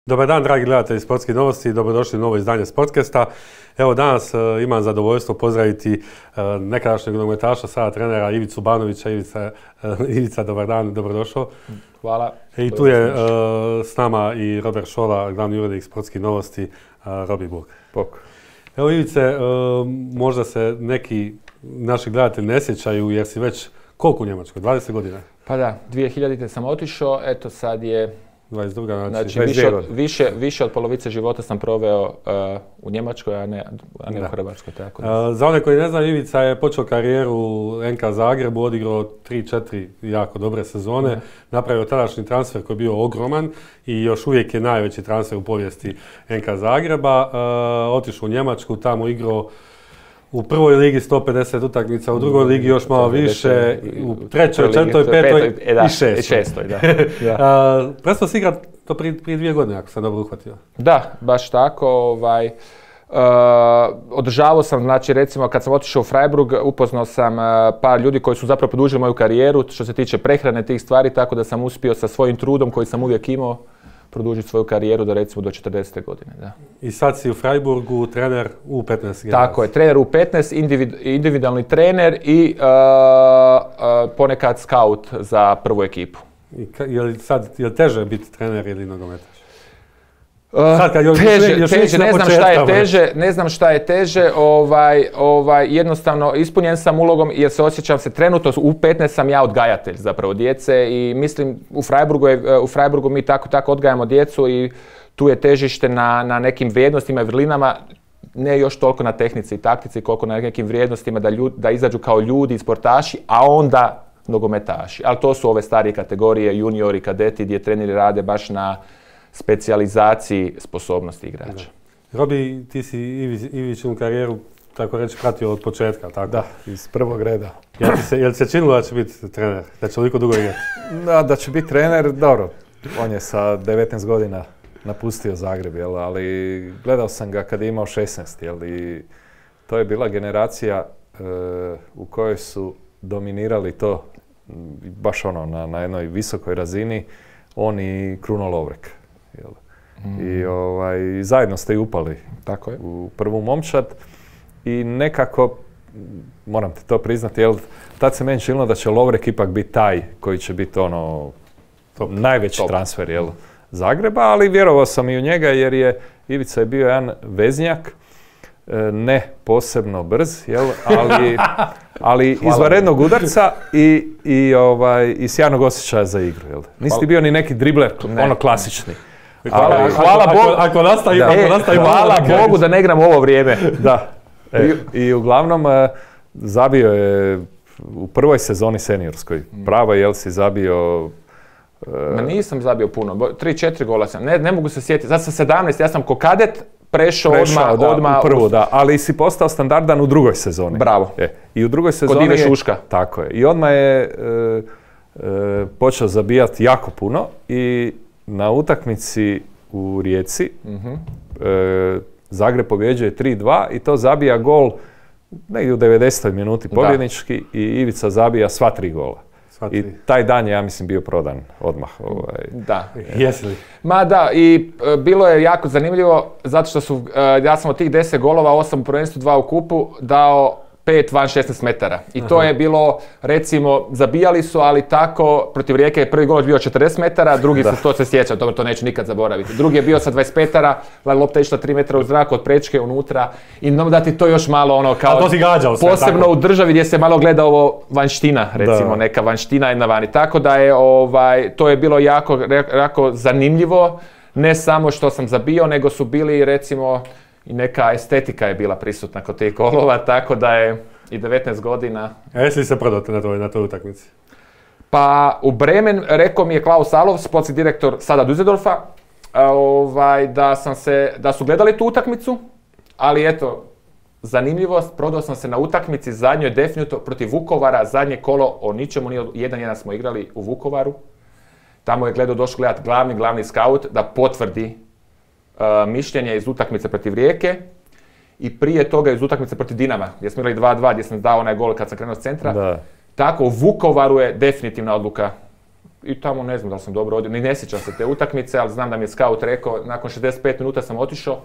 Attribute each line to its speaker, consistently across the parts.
Speaker 1: Dobar dan, dragi gledatelji Sportskih novosti, dobrodošli u novo izdanje Sportcasta. Evo danas imam zadovoljstvo pozdraviti nekadašnjeg nogometaša, sada trenera Ivicu Banovića. Ivica, dobar dan, dobrodošao.
Speaker 2: Hvala.
Speaker 1: I tu je s nama i Robert Šola, glavni urednik Sportskih novosti, Robi Bog. Evo Ivice, možda se neki naši gledatelji ne sjećaju jer si već koliko u Njemačkoj, 20 godina?
Speaker 2: Pa da, 2000. sam otišao, eto sad je
Speaker 1: 22.
Speaker 2: Znači više od polovice života sam proveo u Njemačkoj, a ne u Hrvatskoj. Tako da.
Speaker 1: Za one koji ne znaju, Ivica je počeo karijeru u NK Zagrebu, odigrao 3-4 jako dobre sezone, napravio tadašnji transfer koji je bio ogroman i još uvijek je najveći transfer u povijesti NK Zagreba. Otišao u Njemačku, tamo igrao u prvoj ligi 150 utakmica, u drugoj ligi još malo više, u trećoj, četvrtoj, petoj i šestoj. Prestao si igrati to prije 2 godine, ako sam dobro uhvatio.
Speaker 2: Da, baš tako. Održavao sam, znači recimo kad sam otišao u Freiburg, upoznao sam par ljudi koji su zapravo produžili moju karijeru što se tiče prehrane tih stvari, tako da sam uspio sa svojim trudom koji sam uvijek imao produžiti svoju karijeru do recimo do 40. godine. Da.
Speaker 1: I sad si u Freiburgu trener U15 generacije.
Speaker 2: Tako je, trener U15, individualni trener i ponekad scout za prvu ekipu.
Speaker 1: Je li teže biti trener ili nogometaš?
Speaker 2: Teže, ne znam šta je teže, jednostavno ispunjen sam ulogom jer se osjećam se trenutno, u 15 sam ja odgajatelj zapravo djece i mislim u Freiburgu mi tako odgajamo djecu i tu je težište na nekim vrijednostima i vrlinama, ne još toliko na tehnici i taktici koliko na nekim vrijednostima da izađu kao ljudi, sportaši, a onda nogometaši. Ali to su ove starije kategorije, juniori, kadeti gdje treneri rade baš na specijalizaciji sposobnosti igrača.
Speaker 1: Robi, ti si Ivićinu karijeru, tako reći, pratio od početka, tako?
Speaker 3: Da, iz prvog reda.
Speaker 1: Jel se činilo da će biti trener? Da će toliko dugo igrati?
Speaker 3: Da će biti trener, dobro. On je sa 19 godina napustio Zagreb, ali gledao sam ga kad je imao 16, i to je bila generacija u kojoj su dominirali to baš na jednoj visokoj razini, on i Kruno Lovrek. I zajedno ste i upali
Speaker 2: tako je.
Speaker 3: U prvu momčad i nekako, moram ti to priznati, tad se meni činilo da će Lovrek ipak biti taj koji će biti najveći transfer Zagreba, ali vjerovao sam i u njega jer Ivica je bio jedan veznjak, ne posebno brz, ali izvanrednog udarca i sjajnog osjećaja za igru. Nisi ti bio ni neki dribler, klasični.
Speaker 2: Hvala Bogu.
Speaker 1: Ako nastavi,
Speaker 2: hvala Bogu da ne igram ovo vrijeme.
Speaker 3: Da. I uglavnom zabio je u prvoj sezoni seniorskoj. Pravo si zabio...
Speaker 2: Nisam zabio puno. 3-4 gola sam. Ne mogu se sjetiti. Sad sam 17, ja sam ko kadet prešao odmah
Speaker 3: u prvu, da. Ali si postao standardan u drugoj sezoni.
Speaker 2: Bravo.
Speaker 3: I u drugoj sezoni...
Speaker 2: Kod Ive Šuška.
Speaker 3: Tako je. I odmah je počeo zabijati jako puno i na utakmici u Rijeci Zagreb pobjeđuje 3-2 i to zabija gol negdje u 90. minuti pobjednički i Ivica zabija sva 3 gola. I taj dan je, ja mislim, bio prodan odmah.
Speaker 2: Da.
Speaker 1: Jesi li?
Speaker 2: Ma da, i bilo je jako zanimljivo zato što ja sam od tih 10 golova, 8 u prvenstvu, 2 u kupu, dao 5 van 16 metara. I to je bilo, recimo, zabijali su, ali tako, protiv Rijeke je prvi gol bio 40 metara, drugi to se sjeća, dobro, to neću nikad zaboraviti. Drugi je bio sa 25 metara, lopta je išla 3 metra u zrak od prečke unutra i da ti to još malo kao...
Speaker 1: to si gađao sve,
Speaker 2: posebno tako? U državi gdje se malo gleda ovo vanština, recimo, neka vanština jedna vani. Tako da je, to je bilo jako zanimljivo, ne samo što sam zabio, nego su bili, recimo, i neka estetika je bila prisutna kod tih golova, tako da je i 19 godina...
Speaker 1: Jesi li se prodao na toj utakmici?
Speaker 2: Pa u Bremen rekao mi je Klaus Alov, sportski direktor sada Düsseldorfa, da su gledali tu utakmicu, ali eto, zanimljivost, prodao sam se na utakmici zadnjoj definitivno protiv Vukovara, zadnje kolo o ničemu, 1-1 smo igrali u Vukovaru. Tamo je došao gledati glavni scout da potvrdi mišljenje iz utakmice protiv Rijeke i prije toga iz utakmice protiv Dinama, gdje smo igrali 2-2, gdje sam dao onaj gol kad sam krenuo s centra. Da. Tako, u Vukovaru je definitivna odluka i tamo ne znam da sam dobro odio, ni ne sjećam se te utakmice, ali znam da mi je scout rekao, nakon 65 minuta sam otišao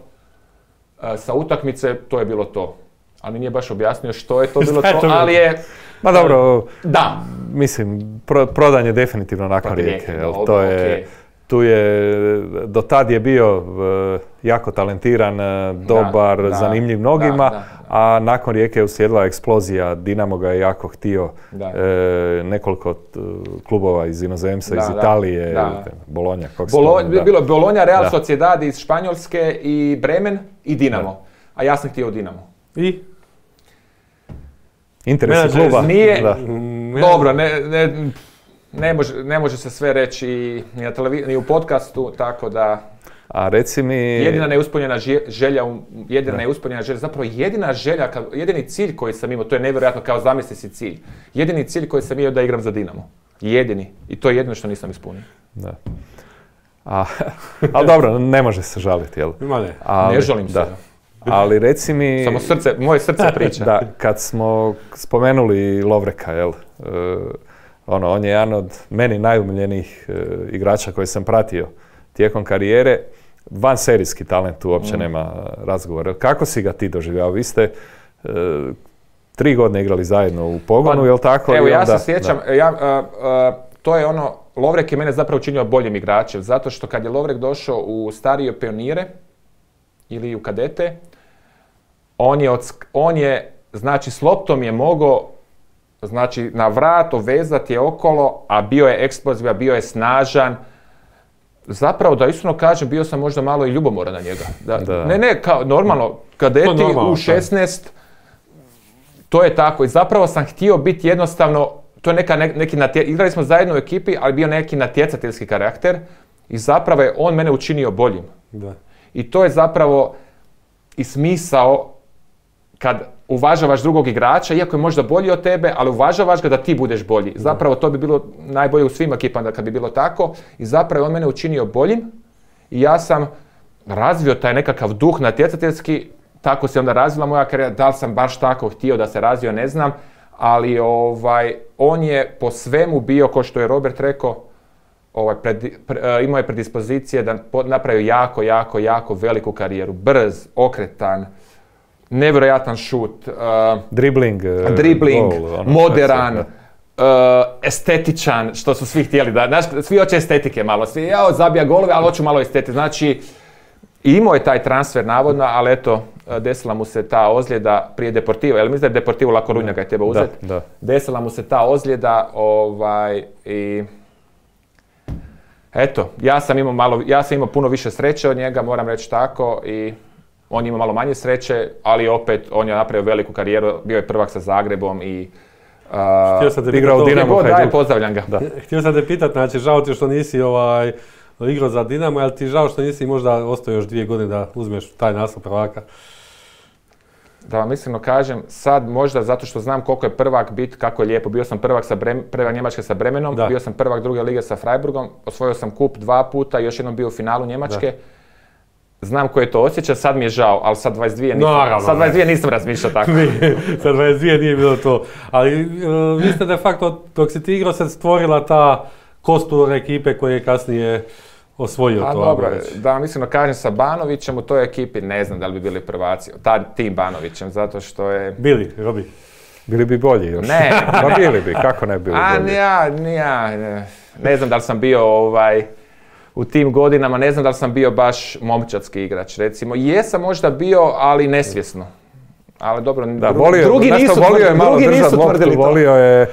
Speaker 2: sa utakmice, to je bilo to. Ali nije baš objasnio što je to bilo to, ali je...
Speaker 3: Ma dobro,
Speaker 2: da.
Speaker 3: Mislim, prodan je definitivno nakon Rijeke. To je, tu je, do tad je bio jako talentiran, dobar, zanimljiv mnogima, a nakon Rijeke je uslijedila eksplozija. Dinamo ga je jako htio, nekoliko klubova iz inozemstva, iz Italije, Bologna.
Speaker 2: Bilo je Bologna, Real Sociedad iz Španjolske i Bremen i Dinamo. A ja sam htio u Dinamo.
Speaker 1: I?
Speaker 3: Interes kluba.
Speaker 2: Nije, dobro, ne može se sve reći ni na televiziji, ni u podcastu, tako da...
Speaker 3: A reci mi...
Speaker 2: Jedina neispunjena želja, zapravo jedina želja, jedini cilj koji sam imao, to je nevjerojatno, kao zamisli si cilj. Jedini cilj koji sam imao da igram za Dinamo. Jedini. I to je jedino što nisam ispunio.
Speaker 3: Da. Ali dobro, ne može se žaliti, jel?
Speaker 2: Ne žalim se.
Speaker 3: Ali reci mi...
Speaker 2: Samo moje srce priča.
Speaker 3: Da, kad smo spomenuli Lovreka, jel? On je jedan od meni najumiljenijih igrača koje sam pratio tijekom karijere. Vanserijski talent, tu uopće nema razgovora. Kako si ga ti doživljavao? Vi ste 3 godine igrali zajedno u pogonu, jel tako?
Speaker 2: Evo, ja se sjećam, to je ono, Lovrek je mene zapravo učinio boljim igračem, zato što kad je Lovrek došao u starije pionire ili u kadete, on je, znači, s loptom je mogao, znači, na vrat vezati je okolo, a bio je eksplozivan, bio je snažan. Zapravo, da iskreno kažem, bio sam možda malo i ljubomoran na njega. Ne, kao normalno, kadeti u 16, to je tako. I zapravo sam htio biti jednostavno, to je igrali smo zajedno u ekipi, ali bio neki natjecateljski karakter i zapravo je on mene učinio boljim.
Speaker 1: Da.
Speaker 2: I to je zapravo i smisao kad uvažavaš drugog igrača, iako je možda bolji od tebe, ali uvažavaš ga da ti budeš bolji. Zapravo to bi bilo najbolje u svim ekipama kad bi bilo tako. I zapravo on mene učinio boljim i ja sam razvio taj nekakav duh natjecateljski, tako se onda razvila moja karijera. Da li sam baš tako htio da se razvio, ne znam, ali on je po svemu bio, kao što je Robert rekao, imao je predispozicije da napravi jako veliku karijeru. Brz, okretan, nevjerojatan šut,
Speaker 3: dribling,
Speaker 2: goal, moderan, estetičan, što su svi htjeli da, znaš, svi hoće estetike malo, svi, zabija golove, ali hoću malo estetike, znači, imao je taj transfer navodno, ali eto, desila mu se ta ozljeda prije Deportiva, jel mislim da je Deportivo La Coruña ga je treba uzeti?
Speaker 3: Da.
Speaker 2: Desila mu se ta ozljeda, i eto, ja sam imao puno više sreće od njega, moram reći tako, i on ima malo manje sreće, ali opet on je napravio veliku karijeru, bio je prvak sa Zagrebom i
Speaker 3: igrao u Dinamo Hajduk.
Speaker 2: Pozdravljam ga.
Speaker 1: Htio sam te pitat, znači žao ti što nisi igrao za Dinamo, ali ti žao što nisi možda ostao još 2 godine da uzmeš taj naslov prvaka?
Speaker 2: Da vam iskreno kažem, sad možda zato što znam koliko je prvak bit, kako je lijepo. Bio sam prvak Njemačke sa Bremenom, bio sam prvak druge lige sa Freiburgom, osvojio sam kup 2 puta, još jednom bio u finalu Njemačke. Znam koje to osjeća, sad mi je žao, ali sad 22 nisam razmišljao tako.
Speaker 1: Sad 22 nije bilo to. Ali vi ste de facto, dok si ti igrao, se stvorila ta kostur ekipe koje je kasnije osvojio to.
Speaker 2: Dobro, da vam iskreno kažem, sa Banovićem u toj ekipi ne znam da li bi bili prvaci. Tim Banovićem, zato što je...
Speaker 1: Bili, Robi.
Speaker 3: Bili bi bolji još.
Speaker 2: Ne.
Speaker 3: Pa bili bi, kako ne bili bolji?
Speaker 2: Ne znam da li sam bio u tim godinama, ne znam da li sam bio baš momčadski igrač, recimo. Jesam možda bio, ali nesvjesno. Ali dobro, drugi nisu tvrdili to.
Speaker 3: Volio je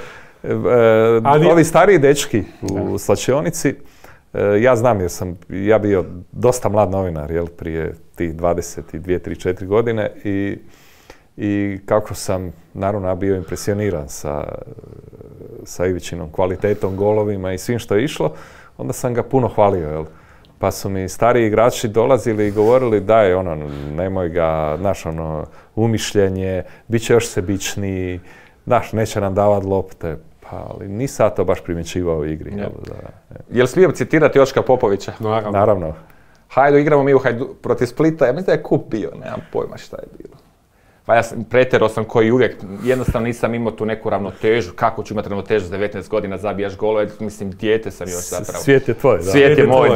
Speaker 3: ovi stariji dečki u slačionici. Ja znam jer sam ja bio dosta mlad novinar, jel, prije tih 22, 3, 4 godine i kako sam naravno bio impresioniran sa Ivičinom kvalitetom, golovima i svim što je išlo, onda sam ga puno hvalio, jel. Pa su mi stariji igrači dolazili i govorili daj, nemoj ga, umišljenje, bit će još sebičniji, neće nam davat lopte. Ali nisam to baš primjećivao u igri.
Speaker 2: Jel smijem citirati Joška Popovića?
Speaker 3: Naravno.
Speaker 2: Igramo mi protiv Splita, ja mislim da je kup bio, nemam pojma šta je bilo. Pa ja pretjerao sam koji uvijek, jednostavno nisam imao tu neku ravnotežu. Kako ću imati ravnotežu s 19 godina, zabijaš golove, mislim, dijete sam još zapravo.
Speaker 3: Svijet je tvoj, da.
Speaker 2: Svijet je moj,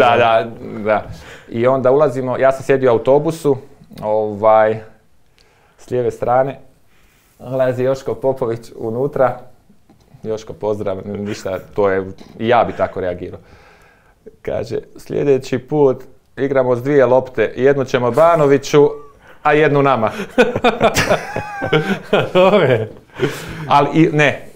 Speaker 2: da. I onda ulazimo, ja sam sjedio u autobusu, s lijeve strane, ulazi Joško Popović unutra. Joško, pozdrav, ništa, to je, i ja bi tako reagirao. Kaže, sljedeći put igramo s 2 lopte, jednu ćemo Banoviću, a jednu nama.
Speaker 1: Dobre.
Speaker 2: Ali ne.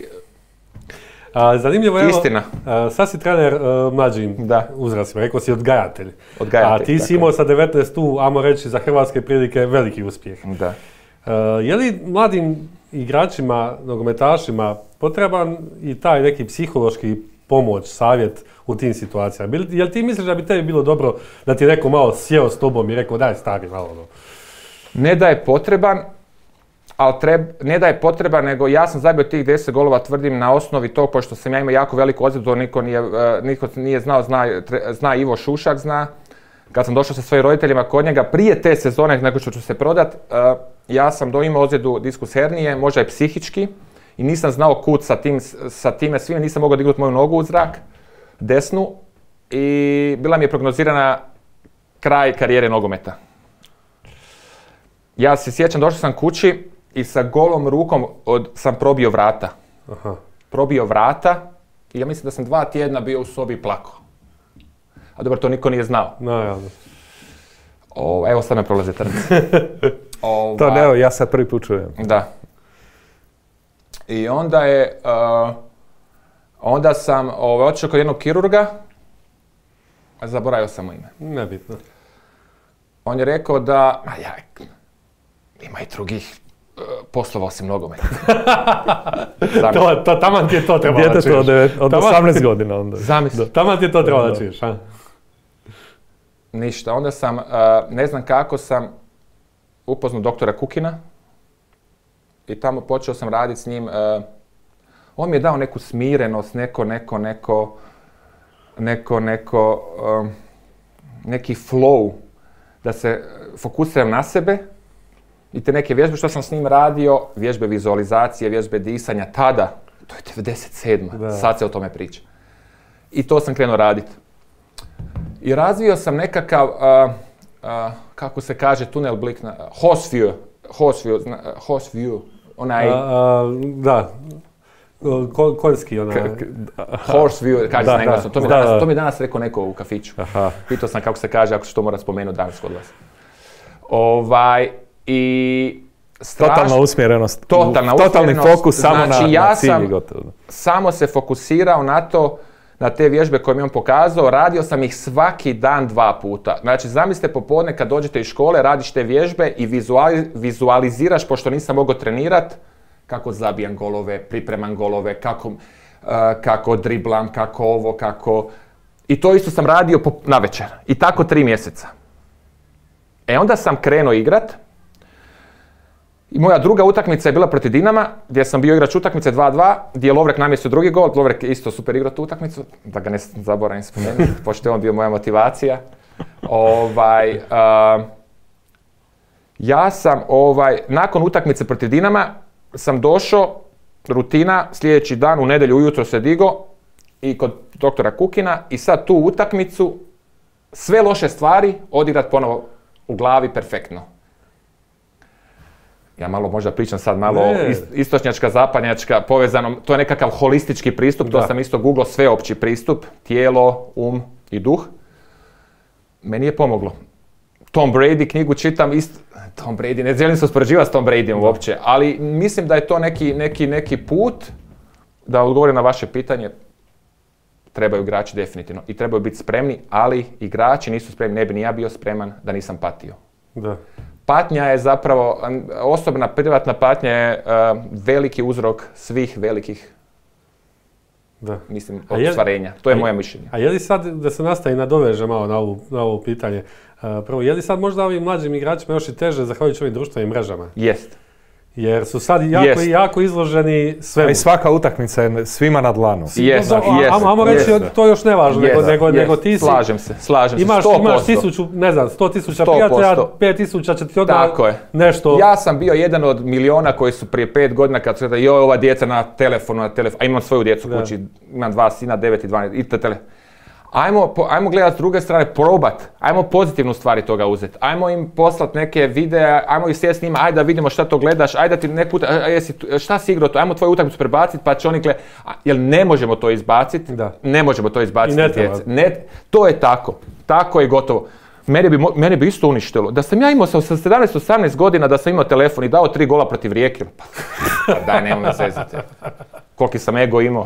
Speaker 1: Zanimljivo je,
Speaker 2: istina.
Speaker 1: Sad si trener mlađim uzrastima, rekao si odgajatelj.
Speaker 2: Odgajatelj.
Speaker 1: A ti si imao sa 19 tu, ajmo reći, za hrvatske prilike veliki uspjeh.
Speaker 2: Da.
Speaker 1: Je li mladim igračima, nogometašima potreban i taj neki psihološki pomoć, savjet u tim situacijama? Jel ti misliš da bi tebi bilo dobro da ti neko malo sjeo s tobom i rekao daj stari malo?
Speaker 2: Ne da je potreban, ne da je potreban, nego ja sam zabio tih 10 golova, tvrdim, na osnovi tog, pošto sam ja imao jako veliku ozljedu, niko nije znao, zna Ivo Šušak, zna. Kad sam došao sa svojim roditeljima kod njega, prije te sezone, nakon što ću se prodat, ja sam imao ozljedu diskus hernije, možda i psihički, i nisam znao kud sa time svime, nisam mogao dignuti moju nogu u zrak, desnu, i bila mi je prognozirana kraj karijere nogometa. Ja se sjećam, došao sam kući i sa golom rukom sam probio vrata.
Speaker 1: Aha.
Speaker 2: Probio vrata i ja mislim da sam 2 tjedna bio u sobi i plakao. A dobro, to niko nije znao.
Speaker 1: Naravno.
Speaker 2: Evo sad me prolaze trnci.
Speaker 3: To ne, evo, ja sad prvi put čujem.
Speaker 2: Da. I onda sam otišao kod jednog kirurga, zaboravio sam mu ime.
Speaker 1: Nebitno.
Speaker 2: On je rekao da, ima i drugih poslova osim nogometa.
Speaker 1: Taman ti je to trebalo da čuješ.
Speaker 3: Od 18 godina onda.
Speaker 2: Zamisli.
Speaker 1: Taman ti je to trebalo da čuješ, a?
Speaker 2: Ništa, onda sam, ne znam kako sam upoznao doktora Kukina i tamo počeo sam raditi s njim. On mi je dao neku smirenost, neki flow, da se fokusiram na sebe i te neke vježbe što sam s njim radio, vježbe vizualizacije, vježbe disanja, tada, to je 97. Sad se o tome priča. I to sam krenuo raditi. I razvio sam nekakav, kako se kaže, tunel blik, horse view, onaj...
Speaker 1: Da, konjski onaj...
Speaker 2: Horse view, kaže se na engleskom, to mi danas rekao neko u kafiću. Pitao sam kako se kaže, ako se to mora spomenuti danas kod vas. I
Speaker 3: totalna usmjerenost.
Speaker 2: Totalni
Speaker 3: fokus samo
Speaker 2: znači,
Speaker 3: na cilj i gotovo.
Speaker 2: Samo se fokusirao na to, na te vježbe koje mi on pokazao, radio sam ih svaki dan 2 puta. Znači, zamislite popodne kad dođete iz škole, radiš te vježbe i vizualiziraš, pošto nisam mogao trenirat, kako zabijam golove, pripremam golove, kako driblam, kako ovo, kako... I to isto sam radio navečer. I tako 3 mjeseca. Onda sam krenuo igrat. I moja druga utakmica je bila protiv Dinama, gdje sam bio igrač utakmice 2-2, gdje je Lovrek namjestio drugi gol. Lovrek je isto super igrao tu utakmicu, da ga ne zaboravim spomenuti, pošto je on bio moja motivacija. Ja sam, nakon utakmice protiv Dinama, sam došao, rutina, sljedeći dan u nedjelju ujutro se digo i kod doktora Kukina i sad tu utakmicu, sve loše stvari odigrat ponovo u glavi perfektno. Ja malo možda pričam sad malo istočnjačka, zapadnjačka, povezano, to je nekakav holistički pristup, to sam isto googlao, sveopći pristup, tijelo, i duh. Meni je pomoglo. Tom Brady knjigu čitam Tom Brady, ne želim se uspoređivati s Tom Bradyom uopće, ali mislim da je to neki put, da odgovorim na vaše pitanje, trebaju igrači definitivno i trebaju biti spremni, ali igrači nisu spremni, ne bi ni ja bio spreman da nisam patio.
Speaker 1: Da.
Speaker 2: Patnja je zapravo, osobna privatna patnja je veliki uzrok svih velikih, mislim, ostvarenja. To je moje mišljenje.
Speaker 1: A je li sad, da se nastavi nadoveže malo na ovo pitanje, prvo, je li sad možda ovim mlađim igračima još i teže zahvaljujući ovim društvenim mrežama?
Speaker 2: Jest.
Speaker 1: Jer su sad jako izloženi svemu.
Speaker 3: I svaka utakmica je svima na dlanu.
Speaker 1: Ajmo reći, to još ne važno, nego ti si...
Speaker 2: Slažem se, 100%.
Speaker 1: Imaš 100.000 prijatelja, 5.000 će ti odmah nešto...
Speaker 2: Ja sam bio jedan od miliona koji su prije 5 godina kad su rekli, joj, ova djeca na telefonu, a imam svoju djecu u kući, imam 2 sina, 9 i 12, i telefon. Ajmo gledati s druge strane, probat, ajmo pozitivnu stvari toga uzeti, ajmo im poslati neke videa, ajmo ih sjesti s njima, ajde da vidimo šta to gledaš, ajde da ti nek put, šta si igrao to, ajmo tvoju utakmicu prebaciti pa će oni gledati, jer ne možemo to izbaciti, ne možemo to izbaciti iz djece. To je tako je gotovo. Mene bi isto uništilo. Da sam ja imao sa 17-18 godina da sam imao telefon i dao 3 gola protiv Rijeke, pa daj, nemoj me zezati. Koliki sam ego imao.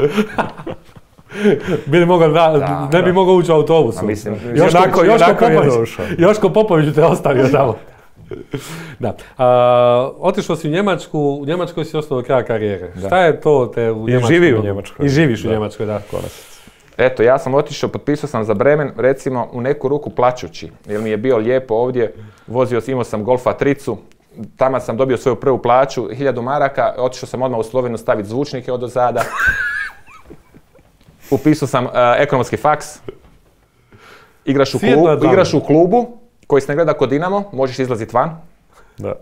Speaker 1: Ne bi mogao ući u autobusu. Joško Popović te ostavio tamo. Da. Otišao si u Njemačku, u Njemačkoj si ostao do kraja karijere. Šta je to te u Njemačkoj? I živiš u Njemačkoj, da.
Speaker 2: Eto, ja sam otišao, potpisao sam za Bremen, recimo u neku ruku plačući, jer mi je bio lijepo ovdje, imao sam Golfa tricu, tamo sam dobio svoju prvu plaću, 1000 maraka, otišao sam odmah u Sloveniju staviti zvučnike od ozada. Upisao sam ekonomski faks, igraš u klubu koji se ne gleda kod Dinamo, možeš izlaziti van,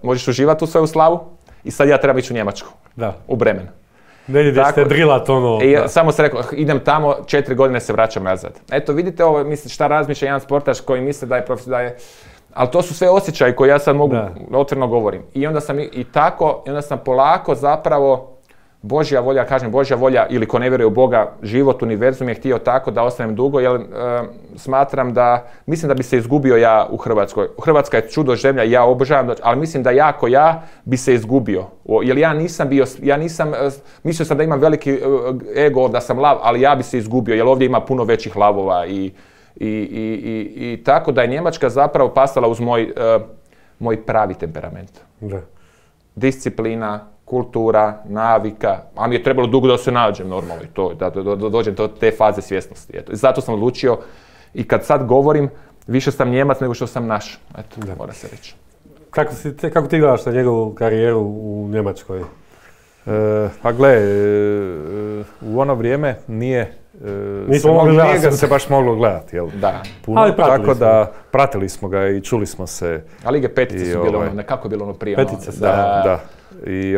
Speaker 2: možeš uživati u svoju slavu i sad ja trebam ići u Njemačku, u Bremen.
Speaker 1: Ne ideš te drilat ono...
Speaker 2: Samo sam rekao, idem tamo, 4 godine se vraćam nazad. Eto, vidite ovo, šta razmišlja jedan sportaš koji misli da je ali to su sve osjećaji koje ja sad mogu, otvoreno govorim. I onda sam polako zapravo, Božja volja, ili ko ne vjeruje u Boga, život, univerzum je htio tako da ostanem dugo, jer mislim da bi se izgubio ja u Hrvatskoj. Hrvatska je čudo zemlja, ja obožavam, ali mislim da ja bi se izgubio. Jer mislio sam da imam veliki ego, da sam lav, ali ja bi se izgubio, jer ovdje ima puno većih lavova i tako da je Njemačka zapravo pasala uz moj pravi temperament. Disciplina, kultura, navika, a mi je trebalo dugo da se nađem normalno i to, da dođem do te faze svjesnosti. Eto. Zato sam odlučio i kad sad govorim, više sam Njemac nego što sam naš. Eto, mora se reći.
Speaker 1: Kako ti gledaš na njegovu karijeru u Njemačkoj?
Speaker 3: Pa gle, u ono vrijeme nije ga se baš moglo gledati, jel?
Speaker 2: Da.
Speaker 3: Puno, ali tako da pratili smo ga i čuli smo se.
Speaker 2: A Lige petice su bile kako je bilo ono prije?
Speaker 1: Petice,
Speaker 3: da. I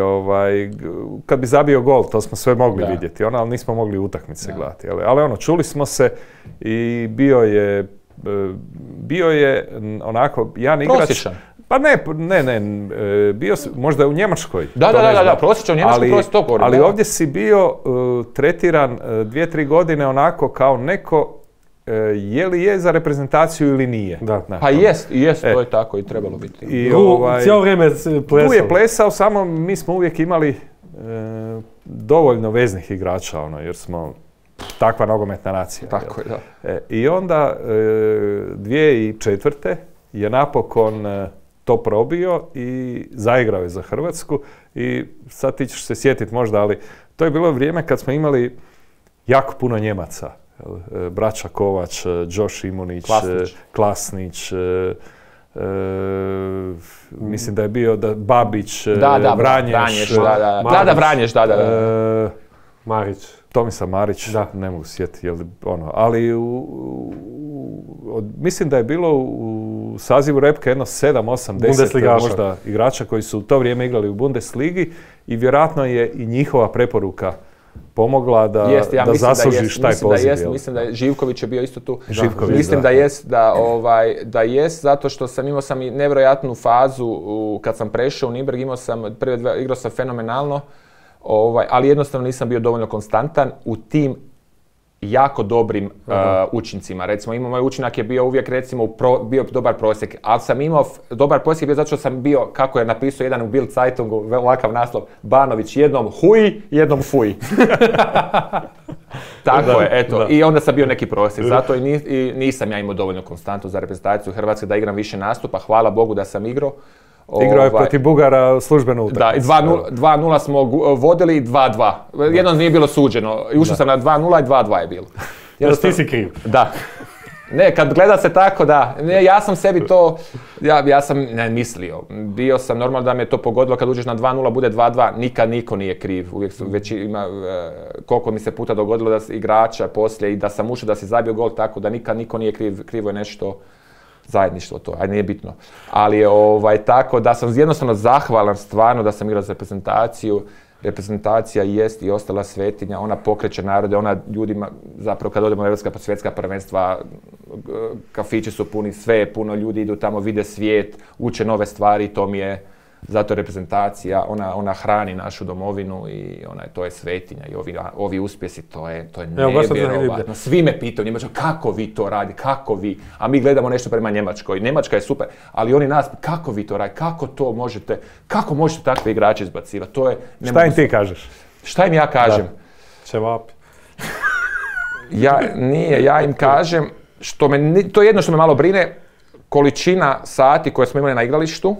Speaker 3: kad bi zabio gol, to smo sve mogli vidjeti, ali nismo mogli utakmice gledati. Ali čuli smo se i bio je onako jedan igrač...
Speaker 2: Prosječan.
Speaker 3: Pa ne, bio si možda u Njemačkoj.
Speaker 2: Da, prosječan u Njemačkoj, to govorim.
Speaker 3: Ali ovdje si bio tretiran 2-3 godine onako kao neko je li je za reprezentaciju ili nije.
Speaker 2: Pa jest, to je tako i trebalo biti.
Speaker 1: Cijelo vrijeme plesao.
Speaker 3: Tu je plesao, samo mi smo uvijek imali dovoljno veznih igrača, jer smo takva nogometna nacija.
Speaker 2: Tako je, da.
Speaker 3: I onda 2004. je napokon to probio i zaigrao je za Hrvatsku i sad ti ćeš se sjetiti možda, ali to je bilo vrijeme kad smo imali jako puno Njemaca. Braća Kovač, Josh Imunić, Klasnić, mislim da je bio Babić, Vranješ.
Speaker 2: Vranješ,
Speaker 1: Marić.
Speaker 3: Tomislav Marić, ne mogu sjetiti, ali mislim da je bilo u sazivu Repke jedno 7, 8, 10 možda igrača koji su u to vrijeme igrali u Bundesligi i vjerojatno je i njihova preporuka pomogla da zaslužiš taj poziv.
Speaker 2: Mislim da je Živković je bio isto tu.
Speaker 3: Mislim
Speaker 2: da jest, zato što imao sam i nevjerojatnu fazu kad sam prešao u Nürnberg, igrao sam fenomenalno, ali jednostavno nisam bio dovoljno konstantan u tim jako dobrim učincima. Recimo, moj učinak je bio uvijek, bio dobar prosjek, ali sam imao dobar prosjek bio zato što sam bio, kako je napisao jedan u Bild Zeitungu, ovakav naslov, Banović, jednom huj, jednom fuj. Tako je, eto. I onda sam bio neki prosjek, zato i nisam ja imao dovoljno konstantu za reprezentaciju Hrvatske da igram više nastupa, hvala Bogu da sam igrao.
Speaker 3: Igrao je protiv Bugara službenu utakmicu.
Speaker 2: Da, i 2-0 smo vodili i 2-2. Jedno nije bilo suđeno. Ušao sam na 2-0 i 2-2 je bilo.
Speaker 1: Ti si kriv.
Speaker 2: Da. Ne, kad gleda se tako, da. Ne, ja sam sebi to, ja sam mislio. Bio sam normalno da me to pogodilo kad uđeš na 2-0, bude 2-2. Nikad niko nije kriv. Uvijek su već ima, koliko mi se puta dogodilo da igrača poslije i da sam ušao da si zabio gol tako da nikad niko nije kriv. Krivo je nešto zajedništvo to, ajde nije bitno. Ali je tako da sam jednostavno zahvalan stvarno da sam igrao za reprezentaciju. Reprezentacija jest i ostala svetinja, ona pokreće narode, ona ljudima, zapravo kad odemo na europska svjetska prvenstva, kafići su puni, sve je puno, ljudi idu tamo, vide svijet, uče nove stvari, to mi je, zato reprezentacija, ona hrani našu domovinu i to je svetinja i ovi uspjesi, to je nevjerovatno. Svi me pitaju Njemačka, kako vi to radi, kako vi, a mi gledamo nešto prema Njemačkoj, Njemačka je super, ali oni nas, kako vi to radi, kako možete takve igrače izbacivati, to je...
Speaker 3: Šta im ti kažeš?
Speaker 2: Šta im ja kažem?
Speaker 1: Ćevapi.
Speaker 2: Ja im kažem, to je jedno što me malo brine, količina sati koje smo imali na igralištu.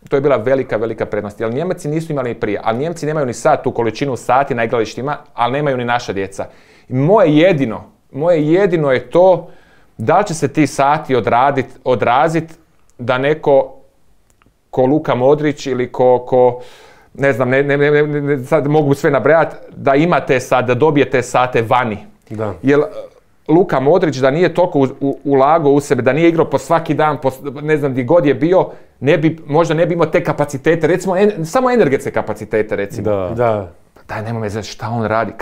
Speaker 2: To je bila velika prednost, jer Njemci nisu imali ni prije, ali Njemci nemaju ni sad tu količinu sati na igralištima, ali nemaju ni naša djeca. I moje jedino je to da li će se ti sati odraziti da neko ko Luka Modrić ili ko ne znam, sad mogu sve nabrajati, da ima te sate, da dobije te sate vani.
Speaker 1: Da.
Speaker 2: Jer Luka Modrić da nije toliko ulagao u sebe, da nije igrao po svaki dan, ne znam gdje god je bio, možda ne bi imao te kapacitete, recimo samo energetske kapacitete recimo.
Speaker 1: Da.
Speaker 2: Daj, nemoj me znati šta on radi.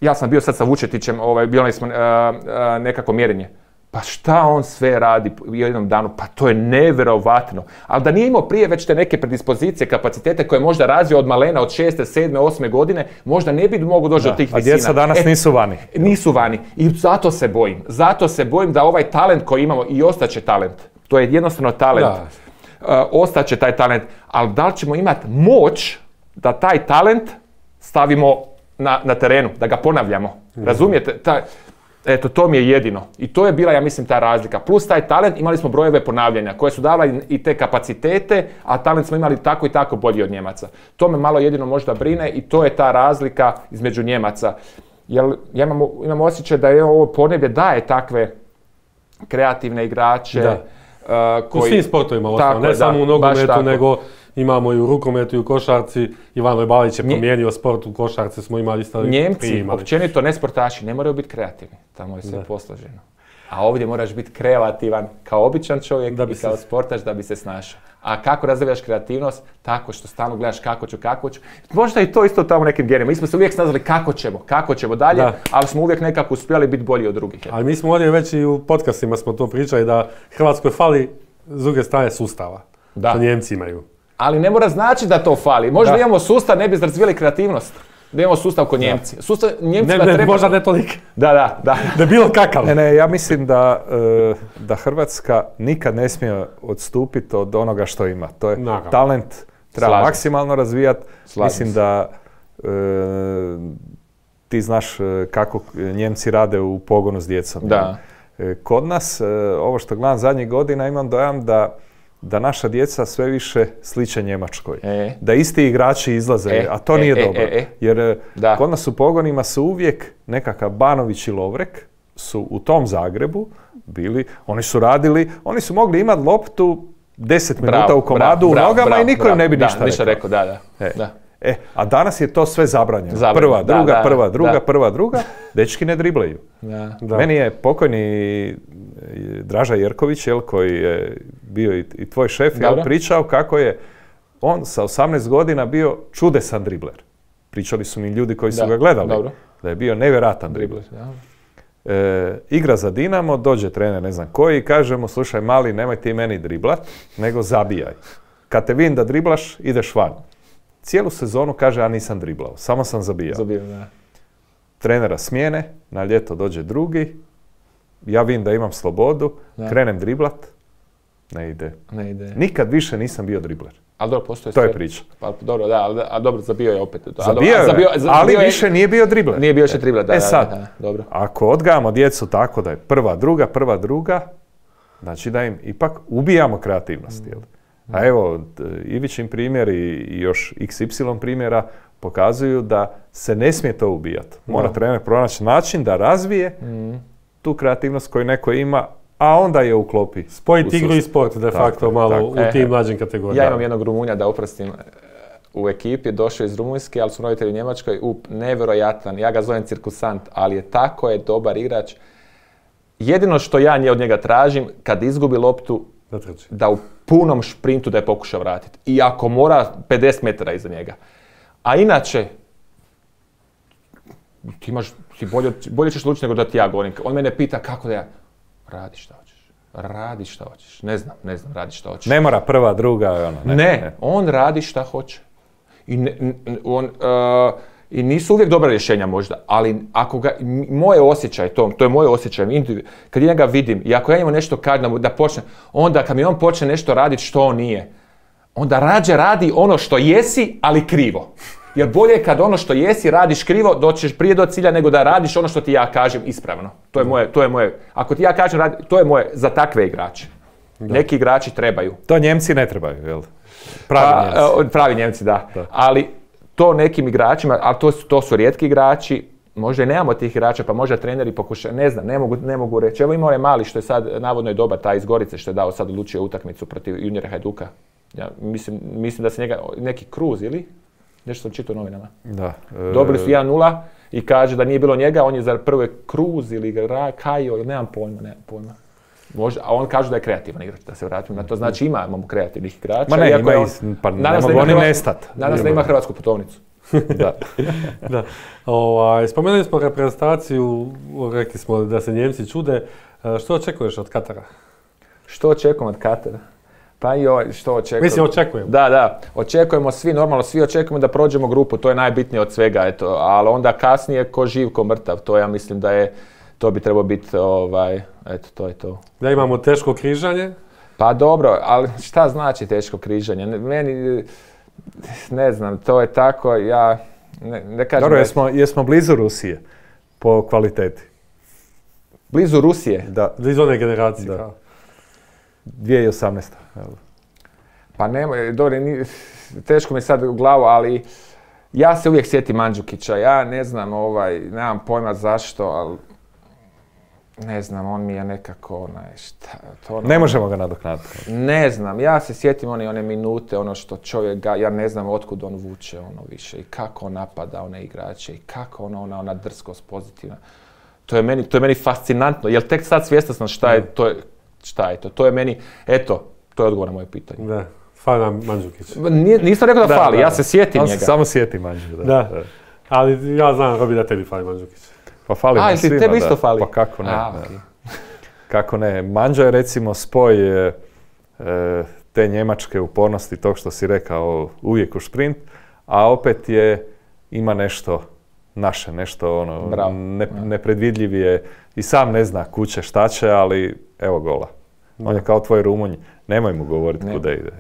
Speaker 2: Ja sam bio sad sa Vučetićem, bilo smo nekako mjerenje. Pa šta on sve radi u jednom danu? Pa to je nevjerovatno. Ali da nije imao prije već te neke predispozicije, kapacitete koje je možda razvio od malena, od 6., 7., 8. godine, možda ne bi mogao doći do tih visina.
Speaker 3: A djeca danas nisu vani.
Speaker 2: Nisu vani. I zato se bojim. Zato se bojim da ovaj talent koji imamo, i ostaće talent, to je jednostavno talent, ostaće taj talent, ali da li ćemo imati moć da taj talent stavimo na terenu, da ga ponavljamo. Razumijete? Eto, to mi je jedino. I to je bila, ja mislim, ta razlika. Plus taj talent, imali smo brojeve ponavljanja koje su davali i te kapacitete, a talent smo imali tako i tako bolji od Njemaca. To me malo jedino možda brine i to je ta razlika između Njemaca. Jer ja imam osjećaj da je ovo podneblje daje takve kreativne igrače.
Speaker 1: U svim sportovima, ne samo u nogometu, nego imamo i u rukometu i u košarci. Ivan Lojbalić je promijenio sport, u košarci smo imali isto.
Speaker 2: Njemci, općenito ne sportaši, ne moraju biti kreativni. Tamo je sve posloženo. A ovdje moraš biti kreativan kao običan čovjek i kao sportaš da bi se snašao. A kako razvijaš kreativnost? Tako što stalno gledaš kako ću. Možda i to isto tamo nekim genima. Mi smo se uvijek snazali kako ćemo dalje, ali smo uvijek nekako uspjeli biti bolji od drugih.
Speaker 1: Ali mi smo ovdje već i u podcastima smo to pričali da Hrvatskoj fali s druge strane sustava. Što Njemci imaju.
Speaker 2: Ali ne mora znači da to fali. Možda imamo sustav, ne bi razvijali kreativnost. Da imamo sustav kod Njemci.
Speaker 1: Možda ne toliko.
Speaker 2: Da.
Speaker 1: Da je bilo kakav.
Speaker 3: Ne, ja mislim da Hrvatska nikad ne smije odstupiti od onoga što ima. To je talent, treba maksimalno razvijati. Mislim da ti znaš kako Njemci rade u pogonu s djecom.
Speaker 2: Da.
Speaker 3: Kod nas, ovo što gledam zadnjih godina, imam dojam da naša djeca sve više sliče Njemačkoj. Da isti igrači izlaze, a to nije dobro. Jer kod nas u pogonima su uvijek nekakav Banović i Lovrek su u tom Zagrebu bili, oni su radili, oni su mogli imati loptu 10 minuta u komadu u nogama i niko im ne bi ništa rekao. A danas je to sve zabranjeno. Prva, druga. Dečki ne driblaju. Meni je pokojni Draža Jerković, koji je bio i tvoj šef, pričao kako je on sa 18 godina bio čudesan dribler. Pričali su mi ljudi koji su ga gledali. Da je bio nevjerojatan dribler. Igra za Dinamo, dođe trener ne znam koji i kaže mu, slušaj mali, nemoj ti meni driblat, nego zabijaj. Kad te vidim da driblaš, ideš van. Cijelu sezonu kaže, ja nisam driblao, samo sam zabijao. Trenera smijene, na ljeto dođe drugi, ja vidim da imam slobodu, krenem driblat, ne ide. Nikad više nisam bio dribler.
Speaker 2: Ali dobro, postoje
Speaker 3: to je priča.
Speaker 2: Pa dobro, ali dobro, zabio je opet.
Speaker 3: Ali više nije bio dribler.
Speaker 2: Nije bio više dribler,
Speaker 3: dobro. Ako odgajamo djecu tako da je prva, druga, znači da im ipak ubijamo kreativnost, jel? A evo, Ivićin primjer i još XY primjera pokazuju da se ne smije to ubijati. Mora trener pronaći način da razvije tu kreativnost koju neko ima, a onda je uklopi.
Speaker 1: Spojiti igru i sport de facto malo u tim mlađim kategorijama.
Speaker 2: Ja imam jednog Rumunja, da oprostim, u ekipi, došao iz Rumunjske, ali su roditelji u Njemačkoj, nevjerojatan, ja ga zovem cirkusant, ali tako je dobar igrač. Jedino što ja od njega tražim, kad izgubi loptu, da u punom šprintu da je pokuša vratiti. I ako mora, 50 metara iza njega. A inače, bolje ćeš lučiti nego da ti ja govorim. On mene pita kako da ja, radi šta hoćeš. Ne znam, radi šta hoćeš.
Speaker 3: Ne mora prva, druga,
Speaker 2: Ne, on radi šta hoće. I nisu uvijek dobra rješenja možda, ali ako ga, moje osjećaj, to je moje osjećaj, kad ja njega vidim i ako ja njemu nešto kažem da počne, onda kad mi on počne nešto raditi što on nije, onda rađe radi ono što jesi, ali krivo. Jer bolje je kad ono što jesi radiš krivo, doćeš prije do cilja nego da radiš ono što ti ja kažem ispravno. To je moje. Ako ti ja kažem, to je moje za takve igrače. Da. Neki igrači trebaju.
Speaker 3: To Njemci ne trebaju, jel?
Speaker 2: Pravi Njemci, da. Ali to nekim igračima, ali to su rijetki igrači, možda i nemamo tih igrača, pa možda treneri pokušaju, ne znam, ne mogu reći. Evo ima onaj mali što je sad, navodno je dobar, taj iz Gorice što je dao sad odlučio utakmicu protiv juniora Hajduka. Ja mislim da se njega, neki Kruz ili? Nešto sam čitao u novinama.
Speaker 3: Da.
Speaker 2: Dobili su 1-0 i kaže da nije bilo njega, on je za prve Kruz ili Kajo, ili nemam pojma. Možda, a on kaže da je kreativan igrač, da se vratim na to. Znači imamo kreativnih igrača.
Speaker 3: Ma ne, ne mogu oni nestati.
Speaker 2: Nadam se da ima hrvatsku putovnicu.
Speaker 1: Da. Spomenuli smo reprezentaciju, rekli smo da se Njemci čude. Što očekuješ od Katara?
Speaker 2: Što očekujem od Katara? Pa što očekujem?
Speaker 1: Mislim, očekujem.
Speaker 2: Da. Očekujemo svi, normalno svi očekujemo da prođemo grupu, to je najbitnije od svega, eto. Ali onda kasnije ko živ, ko mrtav, to ja mislim da je, to bi trebalo biti, eto, to je to.
Speaker 1: Da imamo teško križanje?
Speaker 2: Pa dobro, ali šta znači teško križanje? Meni, ne znam, to je tako, ja ne kažem...
Speaker 3: Dobro, jesmo blizu Rusije po kvaliteti?
Speaker 2: Blizu Rusije?
Speaker 3: Da.
Speaker 1: Blizu one generacije,
Speaker 3: da. 2018.
Speaker 2: Pa nema, dobro, teško mi sad u glavu, ali ja se uvijek sjetim Mandžukića. Ja ne znam, nemam pojma zašto, ali ne znam, on mi je nekako,
Speaker 3: ne možemo ga nadoknaditi.
Speaker 2: Ne znam, ja se sjetim one minute, ono što čovjek ja ne znam otkud on vuče više i kako on napada one igrače i kako ona drskost pozitivna. To je meni fascinantno, jer tek sad svjestan sam šta je to. To je meni, eto, to je odgovor na moje pitanje.
Speaker 1: Da, fali nam Mandžukić.
Speaker 2: Nisam rekao da fali, ja se sjetim njega.
Speaker 3: On se samo sjeti Mandžukić.
Speaker 1: Da. Ali ja znam, Robi, da tebi fali Mandžukić.
Speaker 3: Pa fali nam svima,
Speaker 2: tebi isto fali?
Speaker 3: Pa kako ne.
Speaker 2: Okay.
Speaker 3: Kako ne. Mandža je recimo spoj te njemačke upornosti, tog što si rekao, uvijek u šprint, a opet ima nešto naše, nešto nepredvidljiv je i sam ne zna kuće šta će, ali evo gola. On je kao tvoj Rumunj, nemoj mu govoriti kuda ide.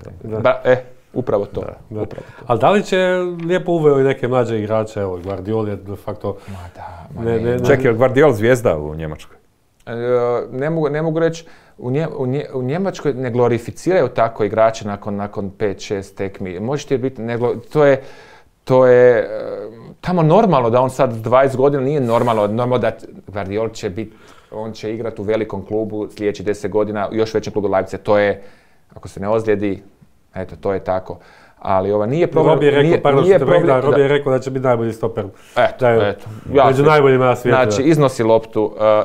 Speaker 2: Upravo to.
Speaker 1: Da. Ali da li će lijepo uveo i neke mlađe igrače, evo Guardiol je de facto...
Speaker 3: Čekaj, Guardiol zvijezda u Njemačkoj?
Speaker 2: Ne mogu reći, u Njemačkoj ne glorificiraju tako igrače nakon 5-6 tekmi. Možete biti, to je tamo normalno da on sad 20 godina nije normalno da Guardiol će biti, on će igrati u velikom klubu sljedeći 10 godina, u još većem klubu Leipzig. To je, ako se ne ozlijedi, eto, to je tako. Ali nije problem...
Speaker 1: Robi je rekao da će biti najbolji stoper.
Speaker 2: Eto.
Speaker 1: Među najboljima na svijetu.
Speaker 2: Znači,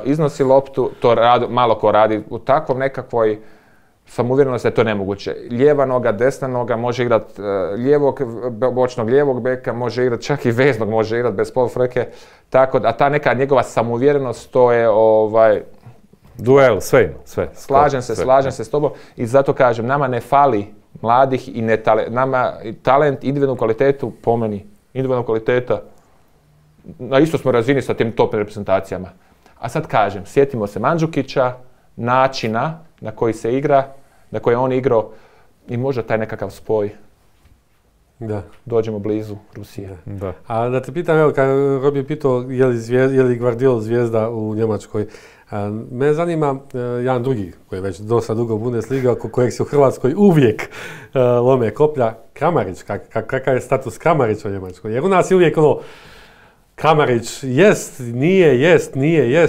Speaker 2: iznosi loptu, to malo ko radi u takvom nekakvoj samouvjerenosti da je to nemoguće. Lijeva noga, desna noga, može igrati bočnog lijevog beka, može igrati čak i veznog, može igrati bez polufrke. Tako da ta neka njegova samouvjerenost, to je
Speaker 3: duel, sve.
Speaker 2: Slažem se s tobom i zato kažem, nama ne fali mladih i nama talent, individualnu kvalitetu, po meni, individualna kvaliteta, na isto smo razini sa tim top reprezentacijama. A sad kažem, sjetimo se Mandžukića, načina na koji se igra, na koji je on igrao i možda taj nekakav spoj.
Speaker 1: Da.
Speaker 2: Dođemo blizu Rusije.
Speaker 1: Da. A da te pitam, evo, kad Robi pitao je li Guardiol zvijezda u Njemačkoj, me zanima jedan drugi, koji je već dosta dugo u Bundesliga, oko kojeg se u Hrvatskoj uvijek lome koplja, Kramarić. Kakav je status Kramarića u Njemačkoj? Jer u nas je uvijek Kramarić jest, nije.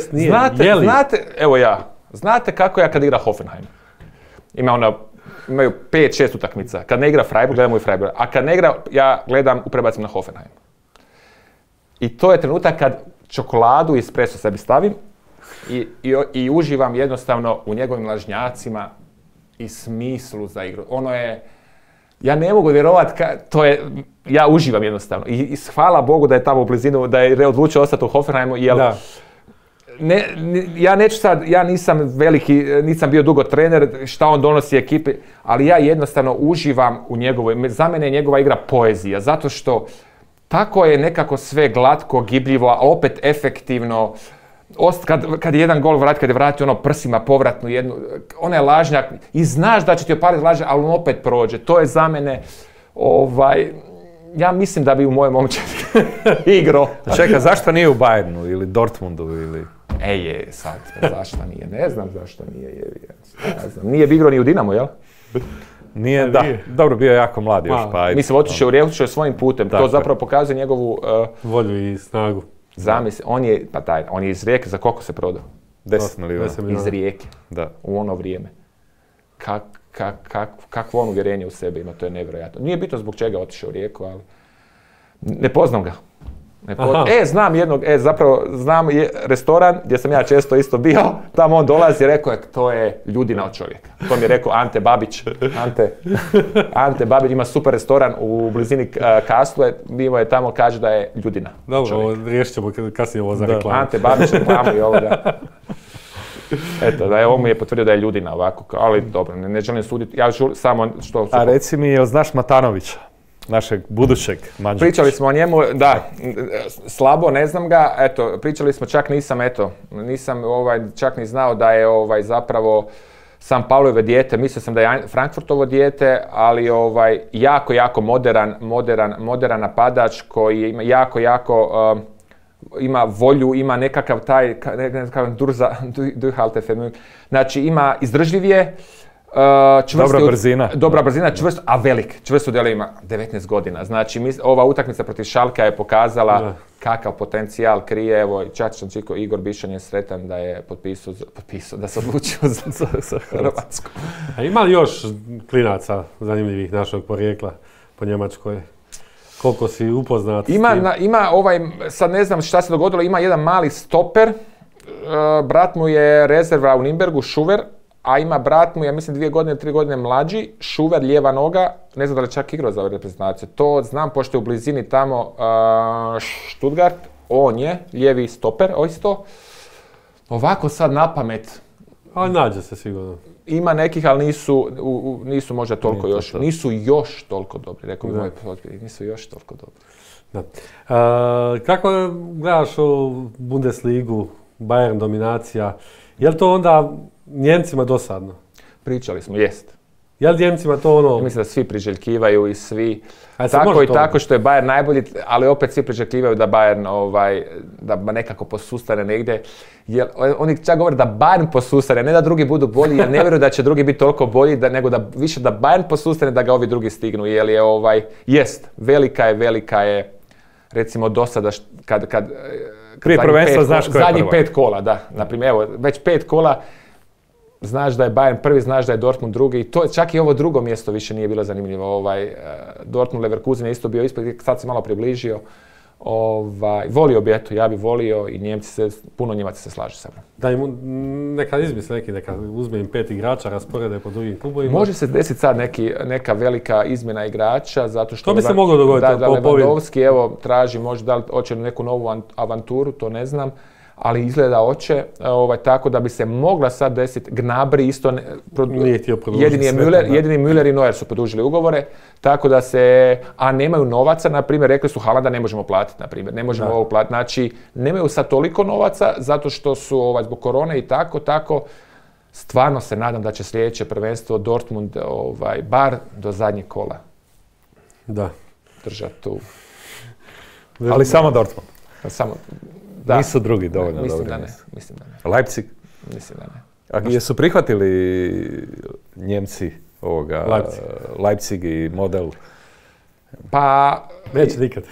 Speaker 2: Znate, evo ja, Znate kako ja kad igra Hoffenheim? Imaju 5-6 utakmica. Kad ne igra Freiburg, gledamo i Freiburg. A kad ne igra, ja gledam, prebacim na Hoffenheim. I to je trenutak kad čokoladu i espresso sebi stavim i uživam jednostavno u njegovim lažnjacima i smislu za igru. Ono je, ja ne mogu vjerovati, ja uživam jednostavno. I hvala Bogu da je tamo u blizinu, da je odlučio ostati u Hoffenheimu, jer ja neću sad, ja nisam bio dugo trener, šta on donosi ekipi, ali ja jednostavno uživam u njegovoj, za mene je njegova igra poezija, zato što tako je nekako sve glatko, gibljivo, a opet efektivno. Kad je jedan gol kad je vratio ono prsima povratnu jednu, ona je lažnjak i znaš da će ti opaliti lažnjak, ali on opet prođe. To je za mene, ja mislim da bi u mojem momčadi igrao.
Speaker 3: Čekaj, zašto nije u Bayernu ili Dortmundu ili...
Speaker 2: Sad, zašto nije? Ne znam zašto nije. Ne znam. Nije bi igrao ni u Dinamo, jel?
Speaker 3: Nije, da. Dobro, bio je jako mlad još, pa...
Speaker 2: Mislim, otišao u Rijeku, svojim putem. To zapravo pokazuje njegovu...
Speaker 1: volju i snagu.
Speaker 2: Zamisli, on je iz Rijeke, za koliko se prodao?
Speaker 3: 10 milijuna.
Speaker 2: Iz Rijeke.
Speaker 3: Da.
Speaker 2: U ono vrijeme. Kakvo on uvjerenje u sebi ima, to je nevjerojatno. Nije bitno zbog čega otišao u Rijeku, ali... Ne poznam ga. Znam restoran gdje sam ja često isto bio, tamo on dolazi i rekao je, to je ljudina od čovjeka. To mi je rekao Ante Babić. Ante Babić ima super restoran u blizini Kastle, bio je tamo, kaže da je ljudina.
Speaker 1: Dobro, riješit ćemo kasnije ovo za reklamu.
Speaker 2: Ante Babić reklamu i ovoga. Eto, da je ovo mi je potvrdio da je ljudina ovako, ali dobro, ne želim suditi, ja samo što...
Speaker 3: A reci mi, jel znaš Matanovića? Našeg budućeg Mandžukića.
Speaker 2: Pričali smo o njemu, da, slabo, ne znam ga, eto, pričali smo, nisam čak ni znao da je zapravo San Paulovo dijete, mislio sam da je Frankfurtovo dijete, ali jako moderan napadač koji ima ima volju, ima nekakav taj, znači ima izdržljiv je, dobra brzina, čvrst, a velik. Čvrst u delu ima 19 godina. Znači, ova utakmica protiv Šalka je pokazala kakav potencijal krije. Evo, Čačićan Čiko, Igor Bišan je sretan da je potpisao da se odlučio za Hrvatsku.
Speaker 1: A ima li još klinaca zanimljivih našeg porijekla po Njemačkoj? Koliko si upoznat s tim?
Speaker 2: Ima sad ne znam šta se dogodilo, ima jedan mali stoper. Brat mu je rezerva u Nürnbergu, Šuver. A ima brat mu, ja mislim 2 godine, 3 godine mlađi, Šuver, lijeva noga, ne znam da li čak igrao za reprezentaciju. To znam, pošto je u blizini tamo Stuttgart, on je lijevi stoper, isto. Ovako sad na pamet.
Speaker 1: Ali nađe se sigurno.
Speaker 2: Ima nekih, ali nisu možda toliko još. Nisu još toliko dobri, rekao bi moj potpiri, nisu još toliko dobri.
Speaker 1: Da. Kako gledaš u Bundesligu, Bayern dominacija, je li to onda Njemcima dosadno?
Speaker 2: Pričali smo, jest.
Speaker 1: Je li Njemcima to ono...
Speaker 2: Ja mislim da svi priželjkivaju i svi... Tako i tako što je Bayern najbolji, ali opet svi priželjkivaju da Bayern da nekako posustane negdje. Jer oni čak govore da Bayern posustane, ne da drugi budu bolji, jer ne vjeruju da će drugi biti toliko bolji, nego da više da Bayern posustane, da ga ovi drugi stignu. Jer je jest, velika je, recimo do sada kad
Speaker 3: prije prvenstva znaš ko je
Speaker 2: zadnjih 5 kola, da. Naprimjer, evo, već 5 kola, znaš da je Bayern prvi, znaš da je Dortmund drugi. To, čak i ovo drugo mjesto više nije bilo zanimljivo. Dortmund Leverkusen je isto bio ispred, sad se malo približio. Volio bi, ja bi volio i Njemci puno Njemaca se slaže sa mnom.
Speaker 1: Da im neka izmisle neka uzme im 5 igrača, rasporede po drugim klubovima.
Speaker 2: Može se desiti sad neka velika izmjena igrača, zato što...
Speaker 1: To bi se moglo dogoditi.
Speaker 2: Da Lewandowski, evo, traži možda da li hoće neku novu avanturu, to ne znam. Ali izgleda hoće, tako da bi se mogla sad desiti. Gnabry isto, jedini Müller i Neuer su produžili ugovore, tako da a nemaju novaca, na primjer, rekli su Haalanda ne možemo platiti, na primjer, ne možemo ovo platiti, znači nemaju sad toliko novaca, zato što su zbog korone i tako, stvarno se nadam da će sljedeće prvenstvo Dortmund, bar do zadnjeg kola.
Speaker 1: Da.
Speaker 2: Držati tu.
Speaker 3: Ali samo Dortmund.
Speaker 2: Samo.
Speaker 3: Da. Nisu drugi dovoljno
Speaker 2: dobri. Mislim da ne.
Speaker 3: Leipzig?
Speaker 2: Mislim da ne.
Speaker 3: A jesu prihvatili Njemci Leipzig i model?
Speaker 2: Pa...
Speaker 1: Neće nikad.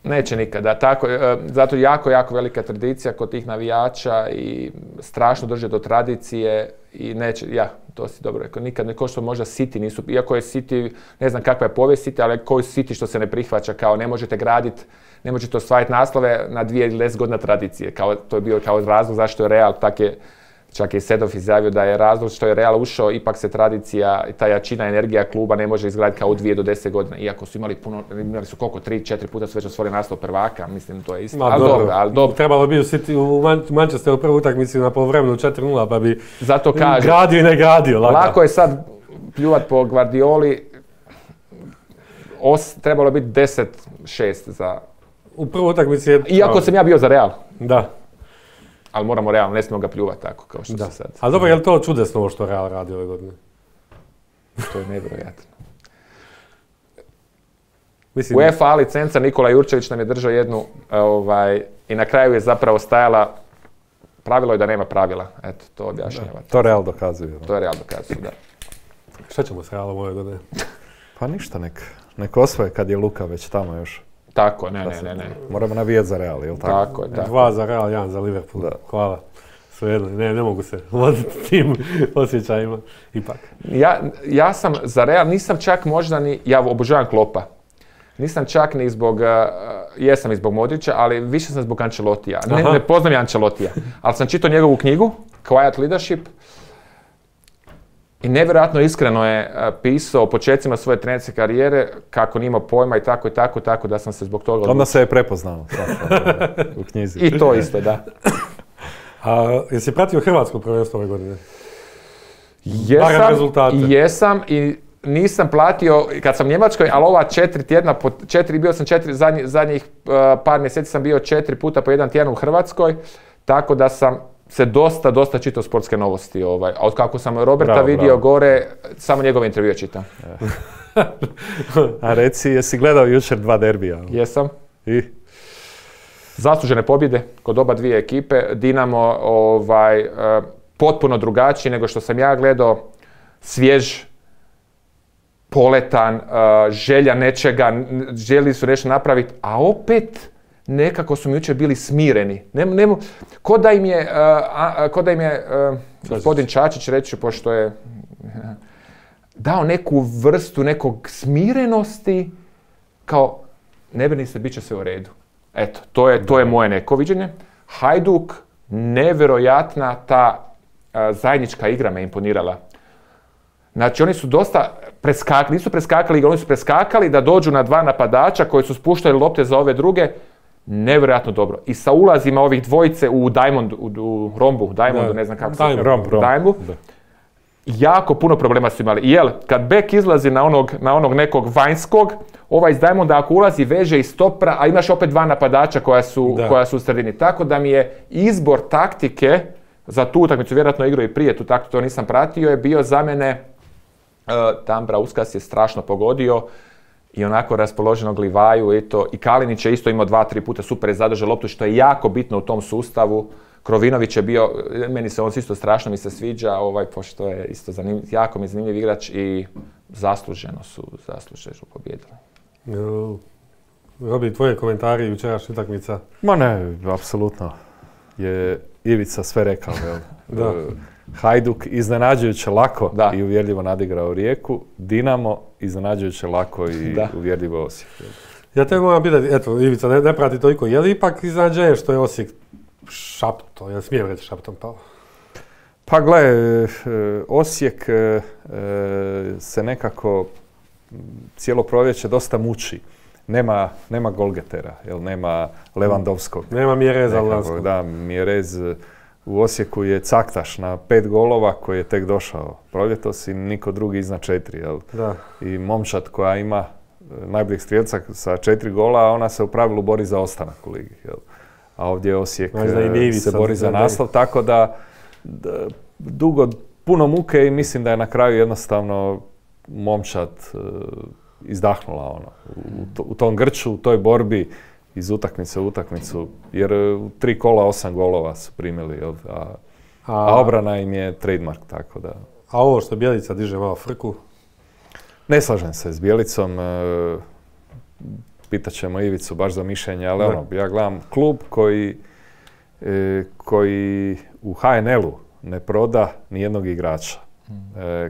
Speaker 2: Neće nikada. Tako, zato jako, jako velika tradicija kod tih navijača i strašno drže do tradicije i neće, to si dobro rekao, nikad ne ko što možda City nisu, iako je City, ne znam kakva je povijest City, ali koji City što se ne prihvaća, kao ne možete graditi, ne možete ostvariti naslove na 2 ili 10 godina tradicije, kao, to je bio kao razlog zašto je Real, čak je Sedov izjavio da je razlog što je Real ušao, ipak se tradicija, ta jačina, energija kluba ne može izgraditi kao u 2 do 10 godina, iako su imali su koliko, 3-4 puta su već osvojili naslov prvaka, mislim to je isto. Ali dobro.
Speaker 1: Trebalo bi u Manchesteru prvu utakmicu na poluvremenu 4-0, pa bi
Speaker 2: zato kažem,
Speaker 1: gradio i ne gradio.
Speaker 2: Lako je sad pljuvat po Guardioli, trebalo biti 10-6 za...
Speaker 1: U prvu utakmici je...
Speaker 2: Iako sam ja bio za Real.
Speaker 1: Da.
Speaker 2: Ali moramo realno, ne smijemo ga pljuvati tako kao što se sad.
Speaker 1: Ali dobro, je li to čudesno ovo što Real radi ove godine?
Speaker 2: To je nevjerojatno. UEFA licenca, Nikola Jurčević nam je držao jednu i na kraju je zapravo stajala, pravilo je da nema pravila. Eto, to objašnjava.
Speaker 3: To Real dokazuje.
Speaker 2: To je Real dokazuje, da.
Speaker 1: Šta ćemo s Realom ove godine?
Speaker 3: Pa ništa, nek osvoje kad je Luka već tamo još.
Speaker 2: Tako, ne.
Speaker 3: Moramo navijeti za Real, jel tako?
Speaker 2: Tako je.
Speaker 1: 2 za Real, 1 za Liverpool. Da. Hvala. Svejedno, ne mogu se voditi tim osjećajima, ipak.
Speaker 2: Ja sam za Real, nisam čak možda ni, ja obožavam Kloppa. Nisam čak ni zbog, jesam i zbog Modrića, ali više sam zbog Ancelotija. Ne poznam ja Ancelotija, ali sam čitao njegovu knjigu, Quiet Leadership, i nevjerojatno iskreno je pisao o početcima svoje trenerske karijere, kako nije imao pojma i tako da sam se zbog toga...
Speaker 3: Onda se je prepoznao u knjizi.
Speaker 2: I to isto, da.
Speaker 1: Jesi pratio hrvatsko prvenstvo ove godine?
Speaker 2: Jesam i nisam platio kad sam u Njemačkoj, ali ova 4 tjedna, bio sam 4, zadnjih par mjeseci sam bio 4 puta po 1 tjedan u Hrvatskoj, tako da sam se dosta čitao sportske novosti. A od kako sam Roberta vidio gore, samo njegove intervjue čitam.
Speaker 3: A reci, jesi gledao jučer 2 derbija?
Speaker 2: Jesam.
Speaker 3: I?
Speaker 2: Zaslužene pobjede kod oba dvije ekipe. Dinamo potpuno drugačiji nego što sam ja gledao. Svjež, poletan, želja nečega, željeli su nešto napraviti, a opet nekako su mi jučer bili smireni. Ko da im je gospodin Čačić, reći ću, pošto je dao neku vrstu nekog smirenosti, kao ne brini se, bit će sve u redu. Eto, to je moje neko viđenje. Hajduk, nevjerojatna ta zajednička igra me imponirala. Znači, oni su dosta preskakali, nisu preskakali igru, oni su preskakali da dođu na 2 napadača koji su spuštali lopte za ove druge. Nevjerojatno dobro. I sa ulazima ovih dvojice u rombu, ne znam kako se Diamondu, jako puno problema su imali. Jel, kad bek izlazi na onog nekog vanjskog, ovaj iz Diamonda ako ulazi veže i stopra, a imaš opet 2 napadača koja su u sredini. Tako da mi je izbor taktike za tu utakmicu, vjerojatno igrao i prije tu taktiku, to nisam pratio, je bio za mene, Tambra Uskas je strašno pogodio i onako raspoloženog Livaju i Kalinić je isto imao 2-3 puta, super je zadržao loptu, što je jako bitno u tom sustavu. Krovinović je bio, meni se on isto strašno mi se sviđa, pošto je isto jako mi zanimljiv igrač i zasluženo su pobjedili.
Speaker 1: Robi, tvoje komentari jučerašnja utakmica?
Speaker 3: Ma ne, apsolutno je Ivica sve rekao. Da. Hajduk iznenađujuće lako i uvjerljivo nadigrao Rijeku, Dinamo iznenađujuće lako i uvjerljivo Osijek.
Speaker 1: Ja te moram pitati, eto, Ivica ne prati toliko, je li ipak iznenađenje što je Osijek šapto, ja smijem reći šaptom pao?
Speaker 3: Pa gle, Osijek se nekako cijelo proljeće dosta muči. Nema golgetera, nema Levandovskog.
Speaker 1: Nema Mjereza Lanskog.
Speaker 3: Da, Mjerez u Osijeku je caktaš na 5 golova koji je tek došao proljetos i niko drugi iznad 4.
Speaker 1: Da.
Speaker 3: I momčad koja ima najboljeg strijelca sa 4 gola, a ona se u pravilu bori za ostanak u ligi. A ovdje Osijek se bori za naslov, tako da dugo, puno muke i mislim da je na kraju jednostavno momčad izdahnula u tom grču, u toj borbi iz utakmice u utakmicu, jer u 3 kola 8 golova su primili, a obrana im je trademark, tako da...
Speaker 1: A ovo što Bjelica diže malo frku?
Speaker 3: Ne slažem se s Bjelicom. pitat ćemo Ivicu baš za mišljenje, ali ja gledam klub koji u HNL-u ne proda nijednog igrača,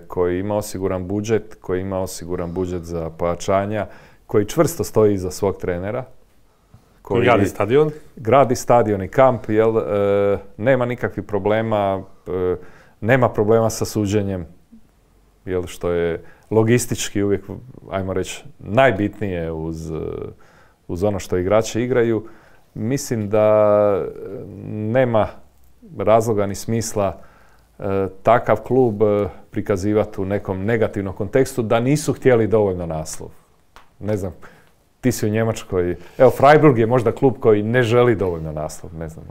Speaker 3: koji ima osiguran budžet, za pojačanja, koji čvrsto stoji iza svog trenera,
Speaker 1: koji
Speaker 3: gradi stadion i kamp, nema nikakvih problema, nema problema sa suđenjem, što je logistički uvijek, ajmo reći, najbitnije uz ono što igrači igraju. Mislim da nema razloga ni smisla takav klub prikazivati u nekom negativnom kontekstu da nisu htjeli dovoljno naslov. Ne znam, ti si u Njemačkoj. Evo, Freiburg je možda klub koji ne želi dovoljno naslov. Ne znam,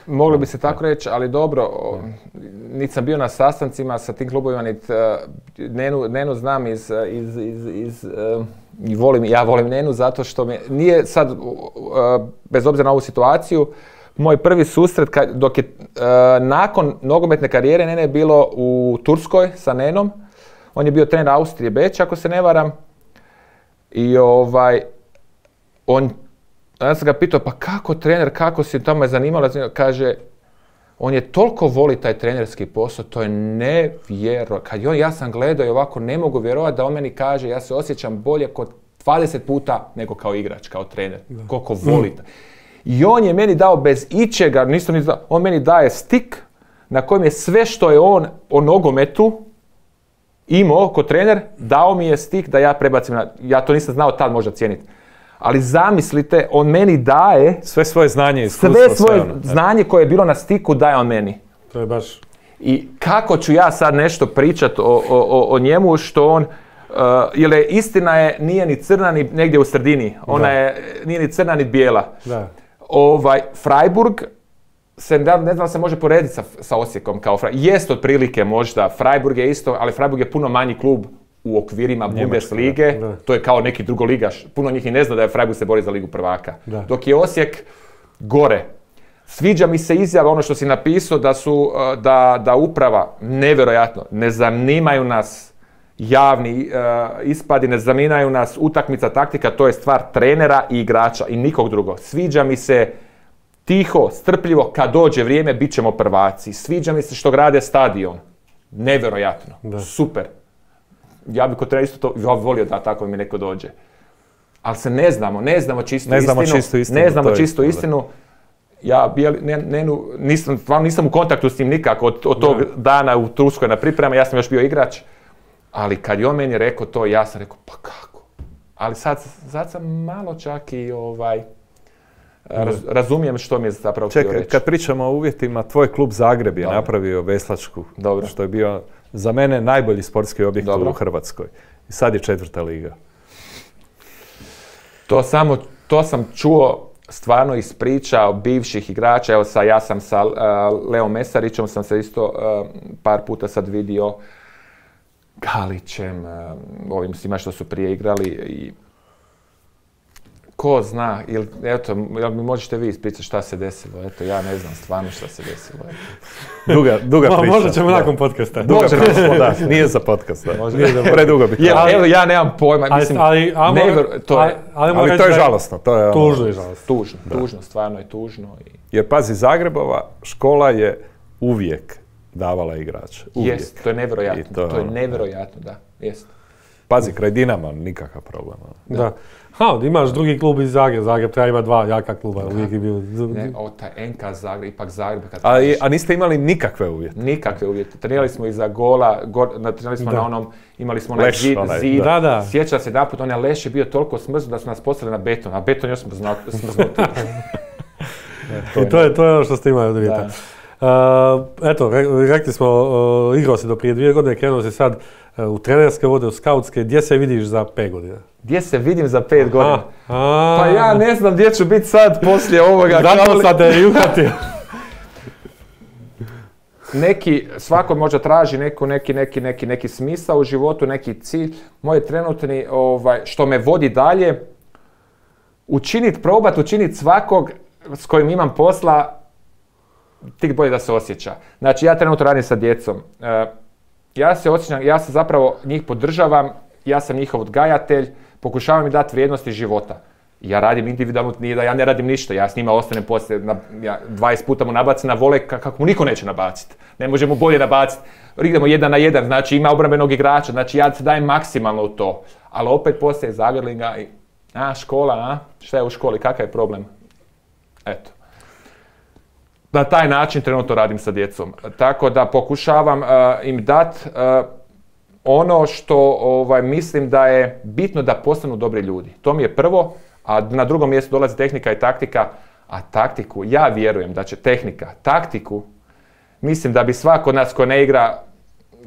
Speaker 2: moglo bi se tako reći, ali dobro, niti sam bio na sastancima sa tim klubovima, niti Nenu znam ja volim Nenu zato što nije sad, bez obzira na ovu situaciju, moj prvi susret, dok je nakon nogometne karijere Nene je bilo u Turskoj sa Nenom. On je bio trener Austrije Beč, ako se ne varam. I ja sam ga pitao, pa kako trener, kako si, tamo me zanimalo, kaže, on je toliko voli taj trenerski posao, to je nevjerojatno. Ja sam gledao i ovako ne mogu vjerovati da on meni kaže, ja se osjećam bolje kod 20 puta nego kao igrač, kao trener. Koliko voli. I on je meni dao bez ičega, on meni daje stik na kojem je sve što je on o nogometu imao kod trener, dao mi je stik da ja prebacim ja to nisam znao tad možda cijeniti. Ali zamislite, on meni daje
Speaker 3: sve svoje znanje, iskustvo,
Speaker 2: sve svoje znanje koje je bilo na stiku daje on meni.
Speaker 1: To je baš...
Speaker 2: I kako ću ja sad nešto pričat o njemu što on, jer istina je, nije ni crna ni negdje u sredini, nije ni crna ni bijela.
Speaker 1: Da.
Speaker 2: Freiburg, ne znam se može porediti sa Osijekom kao Freiburg. Jest otprilike možda, Freiburg je isto, ali Freiburg je puno manji klub u okvirima Bundeslige, to je kao neki drugoligaš. Puno njih i ne zna da je Freiburg se bori za ligu prvaka. Da. Dok je Osijek gore. Sviđa mi se izjava ono što si napisao da uprava, nevjerojatno, ne zanimaju nas javni ispadi, ne zanimaju nas utakmica, taktika, to je stvar trenera i igrača i nikog drugog. Sviđa mi se tiho, strpljivo, kad dođe vrijeme, bit ćemo prvaci. Sviđa mi se što grade stadion. Nevjerojatno. Da. Super. Ja bih kod trener isto to volio da tako mi neko dođe. Ali se ne znamo čistu istinu. Ja nisam u kontaktu s njim nikako od tog dana u Turskoj na priprema, ja sam još bio igrač. Ali kad je on meni rekao to, ja sam rekao, pa kako? Ali sad sam malo čak i razumijem što mi je zapravo htio reći.
Speaker 3: Čekaj, kad pričamo o uvjetima, tvoj klub Zagreb je napravio veslačku, što je bio za mene najbolji sportski objekt u Hrvatskoj. I sad je 4. liga.
Speaker 2: To sam čuo stvarno iz priča bivših igrača. Evo ja sam sa Leom Mesarićem sam se isto par puta sad vidio, Galićem, ovim svima što su prije igrali i ko zna, eto, mi možete vi ispričati šta se desilo, eto, ja ne znam stvarno šta se desilo.
Speaker 3: Duga priča.
Speaker 1: Možda ćemo nakon podcasta.
Speaker 3: Nije za podcast, predugo bi to.
Speaker 2: Evo, ja nemam pojma, mislim,
Speaker 3: ali to je žalostno.
Speaker 1: Tužno je žalostno.
Speaker 2: Tužno, stvarno je tužno.
Speaker 3: Jer pazi, Zagrebova škola je uvijek davala igrače.
Speaker 2: Jest, to je nevjerojatno, da, jest.
Speaker 3: Pazi, kraj Dinama nikakav problem.
Speaker 1: Da. Imaš drugi klub iz Zagreba. Zagreb treba ima 2 jaka kluba.
Speaker 2: Taj NK Zagreb, ipak Zagreb.
Speaker 3: A niste imali nikakve uvjete?
Speaker 2: Nikakve uvjete. Trenirali smo iza gola, trenirali smo na onom, imali smo onaj zid. Sjeća se naput, onaj leš je bio toliko smrznut da su nas poslali na beton, a beton još smrznuti.
Speaker 1: I to je ono što ste imali od uvjeta. Eto, rekli smo, igrao si do prije 2 godine, krenuo si sad u trenerske vode, u skautske. Gdje se vidiš za 5 godina?
Speaker 2: Gdje se vidim za 5 godina? Pa ja ne znam gdje ću biti sad poslije ovoga.
Speaker 1: Zato sad te uhvatio.
Speaker 2: Svako možda traži neki smisao u životu, neki cilj. Moj trenutni, što me vodi dalje, probati učiniti svakog s kojim imam posla, tik bolje da se osjeća. Znači, ja trenutno radim sa djecom. Ja se osjećam, ja se zapravo njih podržavam, ja sam njihov odgajatelj, pokušavam im dati vrijednosti života. Ja radim individualno, nije da ja ne radim ništa, ja s njima ostanem poslije, 20 puta mu nabacim na vole kako mu niko neće nabaciti. Ne može mu bolje nabaciti. Idemo 1 na 1, znači ima obrambenog igrača, znači ja se dajem maksimalno u to. Ali opet poslije zagrlinga i, škola, šta je u školi, kakav je problem? Eto. Na taj način trenutno radim sa djecom. Tako da pokušavam im dati ono što mislim da je bitno da postanu dobri ljudi. To mi je prvo, a na drugom mjestu dolazi tehnika i taktika, a taktiku, ja vjerujem da će taktiku, mislim da bi svako od nas ko ne igra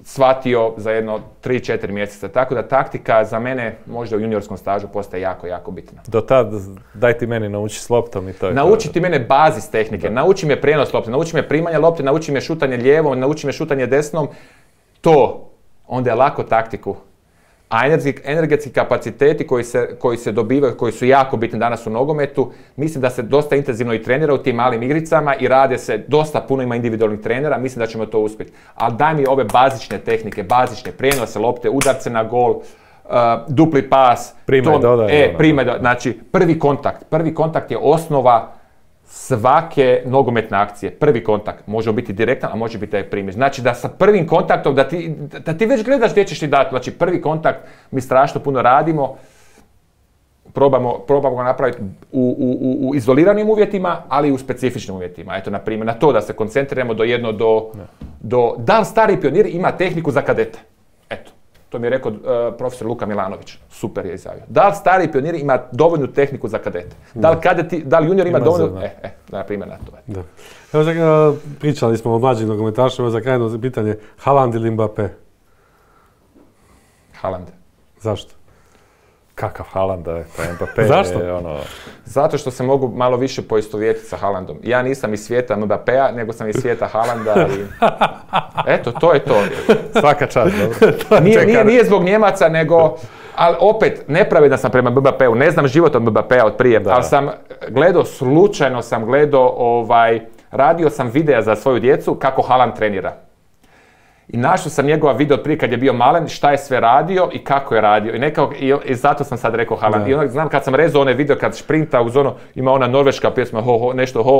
Speaker 2: shvatio za jedno 3-4 mjeseca. Tako da taktika za mene možda u juniorskom stažu postaje jako, jako bitna.
Speaker 3: Do tad daj ti meni nauči s loptom i to je
Speaker 2: nauči ti mene bazis tehnike, nauči me prijenos lopte, nauči me primanje lopte, nauči me šutanje lijevom, nauči me šutanje desnom. To, onda je lako taktiku. A energetski kapaciteti koji se dobivaju, koji su jako bitni danas u nogometu, mislim da se dosta intenzivno i trenira u tim malim igricama i rade se, dosta puno ima individualnih trenera, mislim da ćemo to uspjeti. Ali daj mi ove bazične tehnike, bazične prijenose lopte, udarce na gol, dupli pas. Znači, prvi kontakt je osnova svake nogometne akcije. Prvi kontakt može biti direktan, a može biti da je primiš. Znači da sa prvim kontaktom, da ti već gledaš gdje ćeš ti dati. Znači prvi kontakt mi strašno puno radimo, probamo ga napraviti u izoliranim uvjetima, ali i u specifičnim uvjetima. Eto, na primjer, na to da se koncentriramo da li stari pionir ima tehniku za kadete. Eto. To mi je rekao profesor Luka Milanović. Super je izjavio. Da li stari pionir ima dovoljnu tehniku za kadete? Da li junior ima dovoljnu... na primjer na to.
Speaker 1: Da. Evo, pričali smo o mlađim nogometašima, za krajno pitanje, Haaland ili Mbappé?
Speaker 2: Haaland.
Speaker 1: Zašto?
Speaker 3: Kakav Haaland je, pa Mbappé
Speaker 1: Zašto?
Speaker 3: Je ono...
Speaker 2: Zato što se mogu malo više poistovjetiti sa Haalandom. Ja nisam iz svijeta Mbappéa, nego sam iz svijeta Haalanda i... Eto, to je to.
Speaker 3: Svaka čast, dobro.
Speaker 2: Nije zbog Njemaca, nego... Ali opet, nepravedan sam prema Mbappéu. Ne znam život od Mbappéa od prije, ali sam gledao, slučajno sam gledao, radio sam videa za svoju djecu kako Haaland trenira. I našao sam njegova video prije kad je bio malen, šta je sve radio i kako je radio. I zato sam sad rekao Haaland. I znam kad sam rezao onaj video kad šprinta uz ono, ima ona norveška pjesma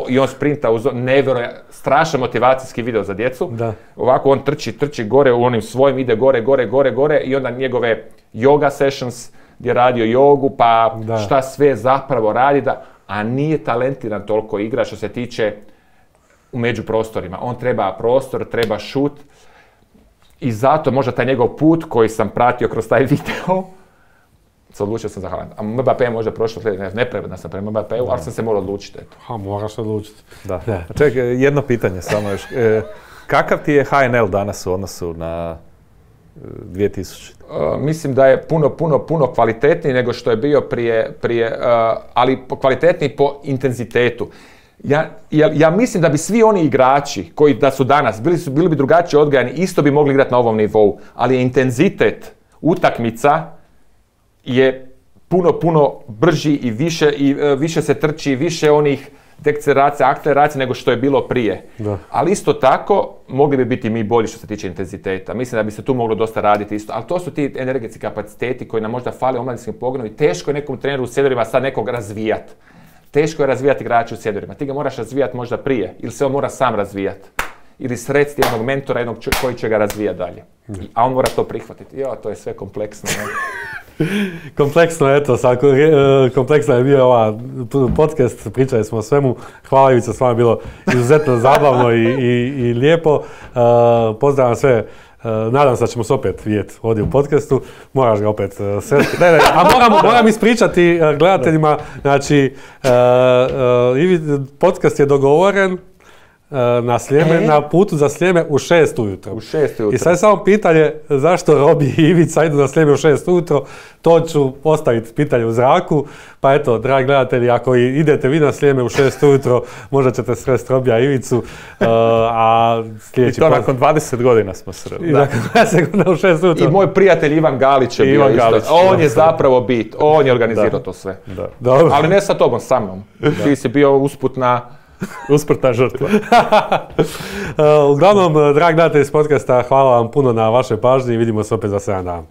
Speaker 2: i on sprinta uz ono, nevjerojatno, strašan motivacijski video za djecu.
Speaker 1: Da.
Speaker 2: Ovako on trči gore u onim svojim, ide gore i onda njegove yoga sessions gdje je radio jogu, pa šta sve zapravo radi, a nije talentiran toliko igra što se tiče u međuprostorima. On treba prostor, treba šut. I zato možda taj njegov put koji sam pratio kroz taj video, se odlučio sam za Haaland. A Mbappé je možda prošlo, nepravedan sam prema Mbappéu, ali sam se morao odlučiti.
Speaker 1: Moraš se odlučiti.
Speaker 3: Da. Čekaj, jedno pitanje samo još. Kakav ti je HNL danas u odnosu na 2000?
Speaker 2: Mislim da je puno kvalitetniji nego što je bio prije, ali kvalitetniji po intenzitetu. Ja mislim da bi svi oni igrači koji da su danas, bili bi drugačije odgajani, isto bi mogli igrati na ovom nivou, ali intenzitet utakmica je puno brži i više se trči, više onih dekceleracija, akceleracija nego što je bilo prije. Da. Ali isto tako, mogli bi biti mi bolji što se tiče intenziteta. Mislim da bi se tu moglo dosta raditi isto. Ali to su ti energetski kapaciteti koji nam možda fale u omladinskim pogonu i teško je nekom treneru u seniorima sad nekog razvijati. Teško je razvijati igrače u seniorima. Ti ga moraš razvijati možda prije, ili se on mora sam razvijati. Ili srediti jednog mentora, jednog koji će ga razvijati dalje. A on mora to prihvatiti. To je sve kompleksno.
Speaker 1: Kompleksno, eto, kompleksno je bio ova podcast, pričali smo o svemu. Hvala Ivica, s vama je bilo izuzetno zabavno i lijepo. Pozdravljam sve. Nadam se da ćemo se opet vidjeti ovdje u podcastu. Moraš ga opet sresti. A moram ispričati gledateljima, znači, podcast je dogovoren na Sljeme, na putu za Sljeme u 6 ujutro. I sad je samo pitanje zašto Robi i Ivica idu na Sljeme u 6 ujutro. To ću postaviti pitanje u zraku. Pa eto, dragi gledatelji, ako idete vi na Sljeme u 6 ujutro, možda ćete sresti Robija i Ivicu.
Speaker 3: I to nakon 20 godina smo sreli.
Speaker 1: I nakon 20 godina u 6 ujutro.
Speaker 2: I moj prijatelj Ivan Galić je bio isto. On je zapravo bit. On je organizirao to sve. Ali ne sa tobom, sa mnom. Ti si bio usputna žrtva.
Speaker 1: Uglavnom, dragi gledatelji iz podcasta, hvala vam puno na vašoj pažnji i vidimo se opet za 7 dana.